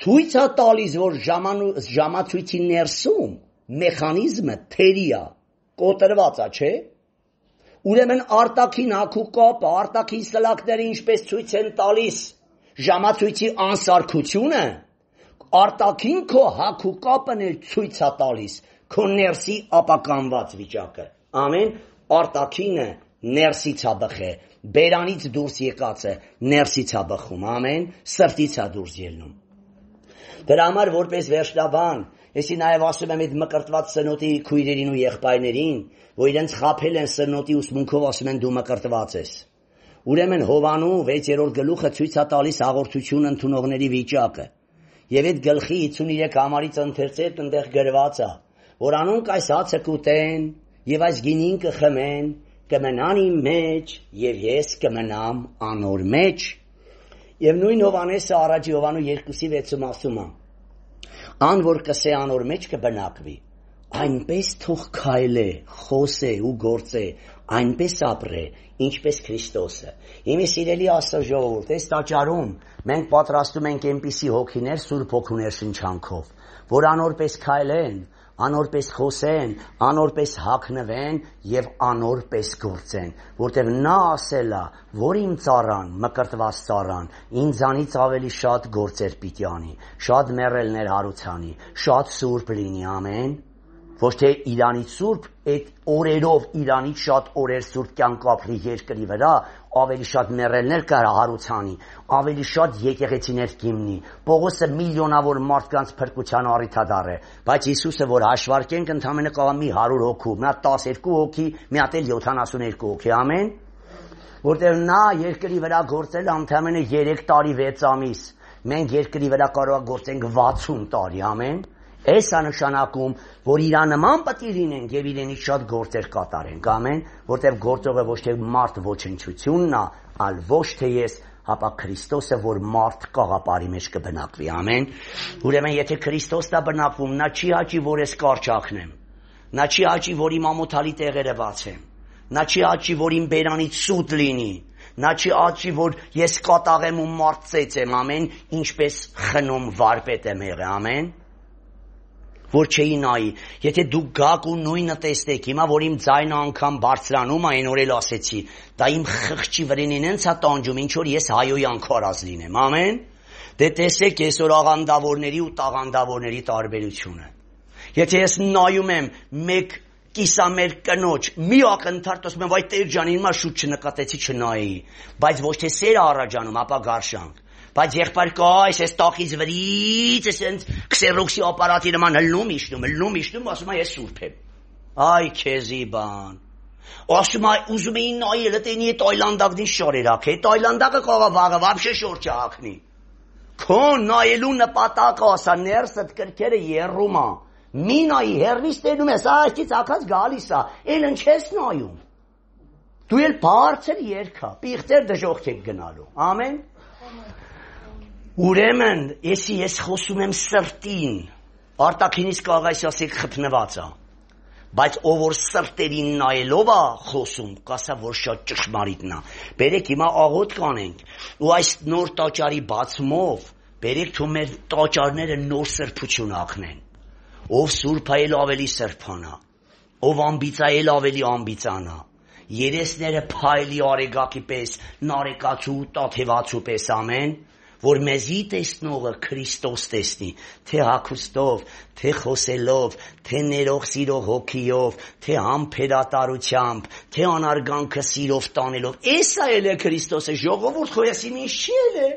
ցույց է տալիս, որ ժամացույցի ներսում մեխանիզմը թերի է, կոտրված է, չէ։ Ուրեմն արտաքին հագու կապը, արտաքին սլակները ինչպես ցույց են տալիս ժամացույցի անսարքությունը, արտաքին քո հագու կապն էլ ցույց է տալիս քո ներսի ապականված վիճակը, ամեն, արտաքինը ներսից է բխե, բերանից դուրս եկածը ներսից է բխում, ամեն, սրտից է դուրս ելնում։ Դրա համար որպես վերջնաբան, եսի նաև ասում եմ այդ մկրտված սնոտի քույրերին ու եղբայրներին, որ իրենց խաբել են սնոտի ուսմունքով, ասում են դու մկրտված ես։ Ուրեմն Հովանու վեցերորդ գլուխը ցույց է տալիս հաղորդություն ընդունողների վիճակը։ Եվ այդ գլխի հիսուներեք համարից ընթերցել այնտեղ գրված է, որ անոնք այս հացը կուտեն եւ այս գինին կխմեն, կմնան իմ մեջ եւ ես կմնամ անոր մեջ։ Եվ նույն Հովանեսը առաջի Հովանու երկուսի վեցում ասում է. ան որ կսե անոր մեջ կբնակվի, այնպես թող քայլե, խոսե ու գործե, այնպես ապրե, ինչպես Քրիստոսը։ Իմի սիրելի Աստծո ժողովուրդ, այս տաճարում մենք պատրաստում ենք այնպիսի հոգիներ Սուրբ Հոգուներ շնչանքով, որ անորպես քայլեն, անորպես խոսեն, անորպես հագնվեն եւ անորպես գործեն, որտեւ նա ասել է, որ իմ ծառան, մկրտված ծառան, ինձանից ավելի շատ գործեր պիտի անի, շատ մեռելներ հարուցանի, շատ սուրբ լինի, ամեն։ Ոչ թե իրանից սուրբ, այդ օրերով իրանից շատ օրեր սուրբ կյանք ապրի երկրի վրա, ավելի շատ մեռելներ կարա հարուցանի, ավելի շատ եկեղեցիներ կիմնի, Պողոսը միլիոնավոր մարդկանց փրկության առիթադար է, բայց Հիսուսը որ հաշվարկենք ընդամենը կա մի հարյուր հոգու, մի հատ տասներկու հոգի, մի հատ էլ յոթանասունյոթ հոգի, ամեն, որտեղ նա երկրի վրա գործել ընդամենը երեք տարի վեց ամիս, մենք երկրի վրա կարող գործենք վաթսուն տարի, ամեն։ Այս անշանակում, որ իրան նման պետք է լինենք եւ իրենից շատ գործեր կատարենք, ամեն, որտեղ գործողը ոչ թե մարդ ոչնչությունն է, այլ ոչ թե ես, հապա Քրիստոսը, որ մարդ կաղապարի մեջ կբնակվի, ամեն։ Ուրեմն եթե Քրիստոսն է բնակվում, նա չի հաճի, որ ես կարճակնեմ, նա չի հաճի, որ իմ ամոթալի տեղերը բացեմ, նա չի հաճի, որ իմ բերանից սուտ լինի, նա չի հաճի, որ ես կատաղեմ ու մարդ ծեծեմ, ամեն, ինչպես խնում վարպետ եմ եղել, ամեն։ Որ չէի նայի, եթե դուք գաք ու նույնը տեսնեք, հիմա որ իմ ձայնը անգամ բարձրանում այն օր էլ ասեցի, դա իմ խղճի վրին ինձ է տանջում, ինչ որ ես հայոյան քարած լինեմ, ամեն։ Դե տեսեք այսօր աղանդավորների ու տաղանդավորների տարբերությունը։ Եթե ես նայում եմ մեկ կիսամեր կնոջ, մի ակնթարթ ասում եմ, վայ Տեր ջան, հիմա շուտ չնկատեցի չնայի, բայց ոչ թե սերը առաջանում, ապա գարշանք։ Բայց եղբայր կա, այս տախից վրից, այս քսերոքսի ապարատի նման հլնում իշնում, հլնում իշնում, ասում է ես սուրբ եմ։ Այ քեզի բան։ Ասում է ուզում էին նայել, տենի է Տայլանդակդին շարերակ է, Տայլանդակը կողա վաղը, վաբշե շոր չհակնի։ Քո նայելու նպատակը ասա, ներսդ կրքերը երում է, մի նայի հեռվից տենում ես, այստից ակած գալիս է, էլ ընչ ես նայում։ Դու էլ բարձր երկա, պիղծեր դժողք եք գնալու, ամեն։ Ուրեմն, եսի ես խոսում եմ սրտին, արտաքինից կարող այս ասեք խփնված է, բայց ով որ սրտերին նայելով է խոսում, կասա որ շատ ճշմարիտն է։ Բերեք հիմա աղոթք կանենք, ու այս նոր տաճարի բացումով, բերեք թող մեր տաճարները նոր սրբություն ակնեն, ով սուրբ է էլ ավելի սրբանա, ով ամբիծ է էլ ավելի ամբիծանա, երեսները փայլի արեգակի պես, նարեկացու, տաթևացու պես, ամեն, որ մեզի տեսնողը Քրիստոս տեսնի, թե հագուստով, թե խոսելով, թե ներող սիրող հոգիով, թե համբերատարությամբ, թե անարգանքը սիրով տանելով։ Էսա էլ է Քրիստոսը, ժողովուրդ խոյասի ինչ չի էլ է։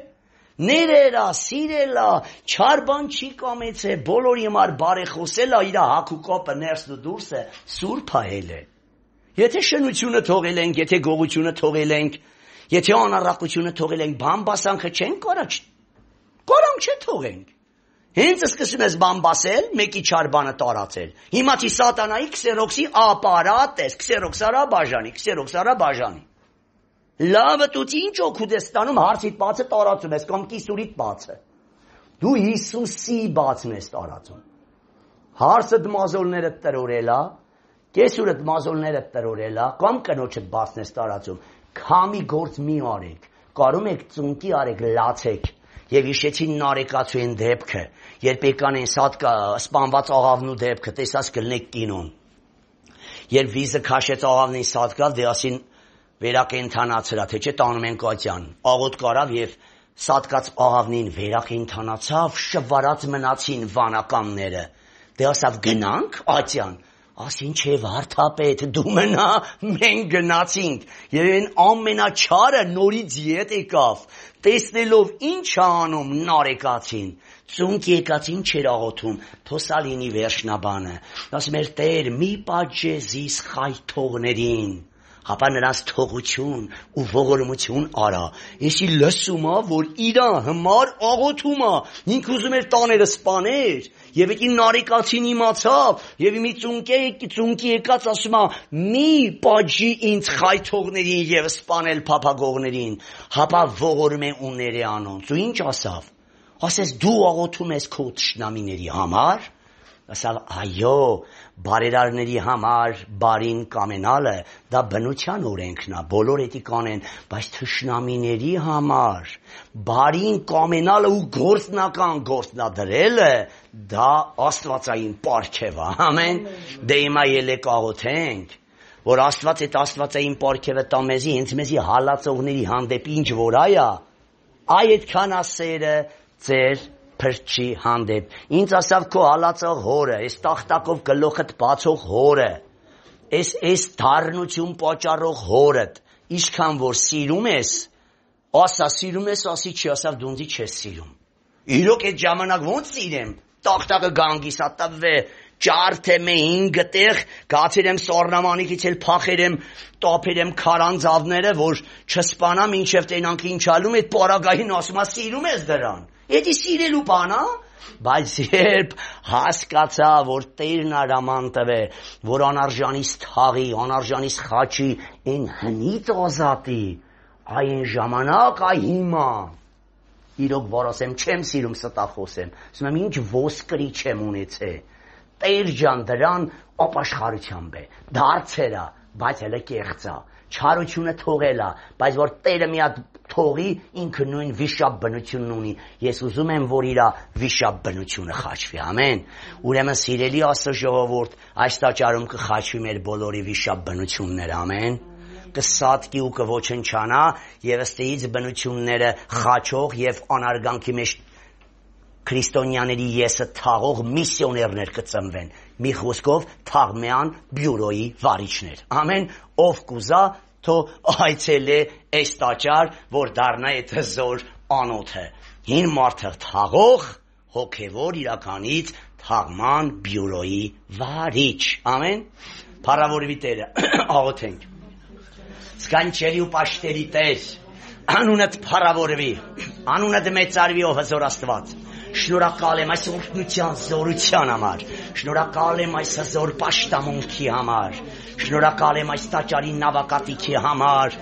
Ներերա, սիրելա, չար բան չի կամեցե, բոլորի համար բարեխոսելա, իր հագուկապը ներսն ու դուրսը սուրբ էլ է։ Եթե շնությունը թողել ենք, եթե գողությունը թողել ենք, եթե անառակությունը թողել ենք, բամբասանքը չենք կարաչ, կարանք չէ թողենք։ Հենց սկսում ես բամբասել, մեկի չար բանը տարածել։ Հիմացի սատանայի քսերոքսի ապարատ ես, քսերոքս արա բաժանի, քսերոքս արա բաժանի։ Լավը դու ինչ օգուտ ես ստանում, հարցիդ բացը տարածում ես, կամ կիսուրիդ բացը։ Դու Հիսուսի բացն ես տարածում։ Հարցը դմազոլները տրորելա, կեսուրը դմազոլները տրորելա, կամ կնոջդ բացն ես տարածում։ Քամի գործ մի արեք, կարում եք ծունկի արեք, լացեք, և իշեցին նարեկացու են դեպքը, երբ եկան են սատկա սպանված աղավնու դեպքը, տեսած կլնեք կինոն, երբ վիզը քաշեց աղավնին սատկավ, դեասին վերակենթանացրա, թե չէ տանում են կատյան, աղոտ կարավ և սատկած աղավնին վերակենթանացավ, շվարած մնացին վանականները, դեասավ գնանք ատյան, ասին չէ վարդապետ, դու մնա, մենք գնացինք, և են ամենաչարը նորից ետ եկավ, տեսնելով ինչ անում նարեկացին, ծունկ եկացին չեր աղոթում, թոսալինի վերջնաբանը, ասում էր Տեր, մի պատժես զիս խայթողներին, հապա նրանց թողություն ու ողորմություն արա, եսի լսում է, որ իրա հմար աղոթում է, ինք ուզում էր տաները սպաներ, և եկի նարեկացին իմացավ, և մի ծունկի եկած ասում է, մի պատժի ինձ խայթողներին և սպանել փափագողներին, հապա ողորմ է ուներ է անոնց, ու ինչ ասավ, ասես դու աղոթում ես քո թշնամիների համար, ասավ այո, բարերարների համար բարին կամենալը դա բնության օրենքն է, բոլոր էդի կանեն, բայց թշնամիների համար բարին կամենալը ու գործնական գործնադրելը դա աստվածային պարգև է, ամեն։ Դե հիմա ելեք աղոթենք, որ Աստված այդ աստվածային պարգևը տա մեզի, հենց մեզի հալածողների հանդեպ ինչ որ այա, այ այդքան ասերը ձեր փրկչի հանդեպ։ Ինձ ասավ քո հալածող հորը, այս տախտակով գլուխդ բացող հորը, այս այս դառնություն պատճառող հորդ, ինչքան որ սիրում ես, ասա սիրում ես, ասի չի, ասավ դու ինձ չես սիրում։ Իրոք այդ ժամանակ ոնց սիրեմ, տախտակը գանգիս ատավե Ջարդեմ ինգ տեղ, գացել եմ սառնամանիքից էլ փախել եմ, տապել եմ քարանձավները, որ չսպանամ ինչև տենանք ինչալում, այդ պարագային ասում է սիրում ես դրան։ Էդի սիրելու բան է, բայց երբ հասկացա, որ Տերն արաման տվե, որ անարժանից թաղի, անարժանից խաչի, այն հնից ազատի, այն ժամանակ, այ հիմա իրոք որ ասեմ, չեմ սիրում ստախոսեմ, ասում եմ ինչ ոսկրի չեմ ունեցել։ Տեր ջան դրան ապաշխարությամբ է, դարձել է, բայց հələ կեղծ է, չարությունը թողել է, բայց որ Տերը մի հատ թողի, ինքը նույն վիշապ բնությունն ունի։ Ես ուզում եմ, որ իր վիշապ բնությունը խաչվի, ամեն։ Ուրեմն սիրելի Աստծո ժողովուրդ, այս տաճարում կխաչվի մեր բոլորի վիշապ բնությունները, ամեն։ Կսատկի ու կոչնչանա եւ ըստեից բնությունները խաչող եւ անարգանքի մեջ քրիստոնյաների եսը թաղող միսիոներներ կծնվեն, մի խոսքով թաղմյան բյուրոյի վարիչներ, ամեն, ով կուզա, թո այցելե այս տաճար, որ դառնա այդ հզոր անոթը, հին մարդը թաղող, հոգևոր իրականից թաղման բյուրոյի վարիչ, ամեն, փառավորվի Տերը, աղոթենք, սկանչելի ու պաշտերի Տեր, անունդ փառավորվի, անունդ մեծարվի ով հզոր Աստված, շնորհակալ եմ այս օրհնության զորության համար, շնորհակալ եմ այս հզոր պաշտամունքի համար, շնորհակալ եմ այս տաճարի նավակատիքի համար,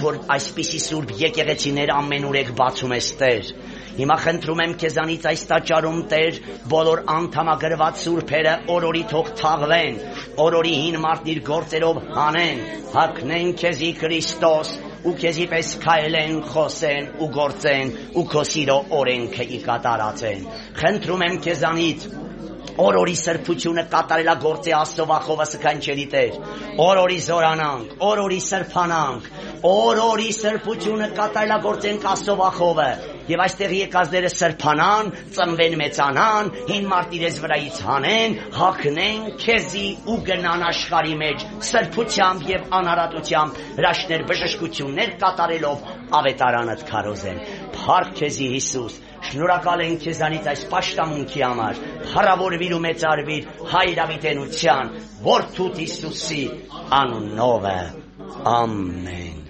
որ այսպիսի սուրբ եկեղեցիներ ամենուրեք բացում ես Տեր։ Հիմա խնդրում եմ քեզանից այս տաճարում Տեր, բոլոր անդամագրված սուրբերը օրորի թող թաղվեն, օրորի հին մարդն իր գործերով հանեն, հագնեն քեզի Քրիստոս ու քեզի պես քայլեն, խոսեն ու գործեն ու քո սիրո օրենքը ի կատարածեն։ Խնդրում եմ քեզանից օրորի սրբությունը կատարելագործի Աստծո վախովը սքանչելի Տեր, օրորի զորանանք, օրորի սրբանանք, օրորի սրբությունը կատարելագործենք Աստծո վախովը, եւ այստեղ եկածները սրբանան, ծնվեն մեծանան, հին մարդ իրենց վրայից հանեն, հագնեն քեզի ու գնան աշխարհի մեջ սրբությամբ եւ անարատությամբ հրաշքներ բժշկություններ կատարելով ավետարանդ քարոզեն։ Փառք քեզի Հիսուս, շնորհակալ ենք քեզանից այս պաշտամունքի համար, փառավորվիր ու մեծարվիր Հայր ավիտենության, Որդուդ Հիսուսի անունով, ամեն։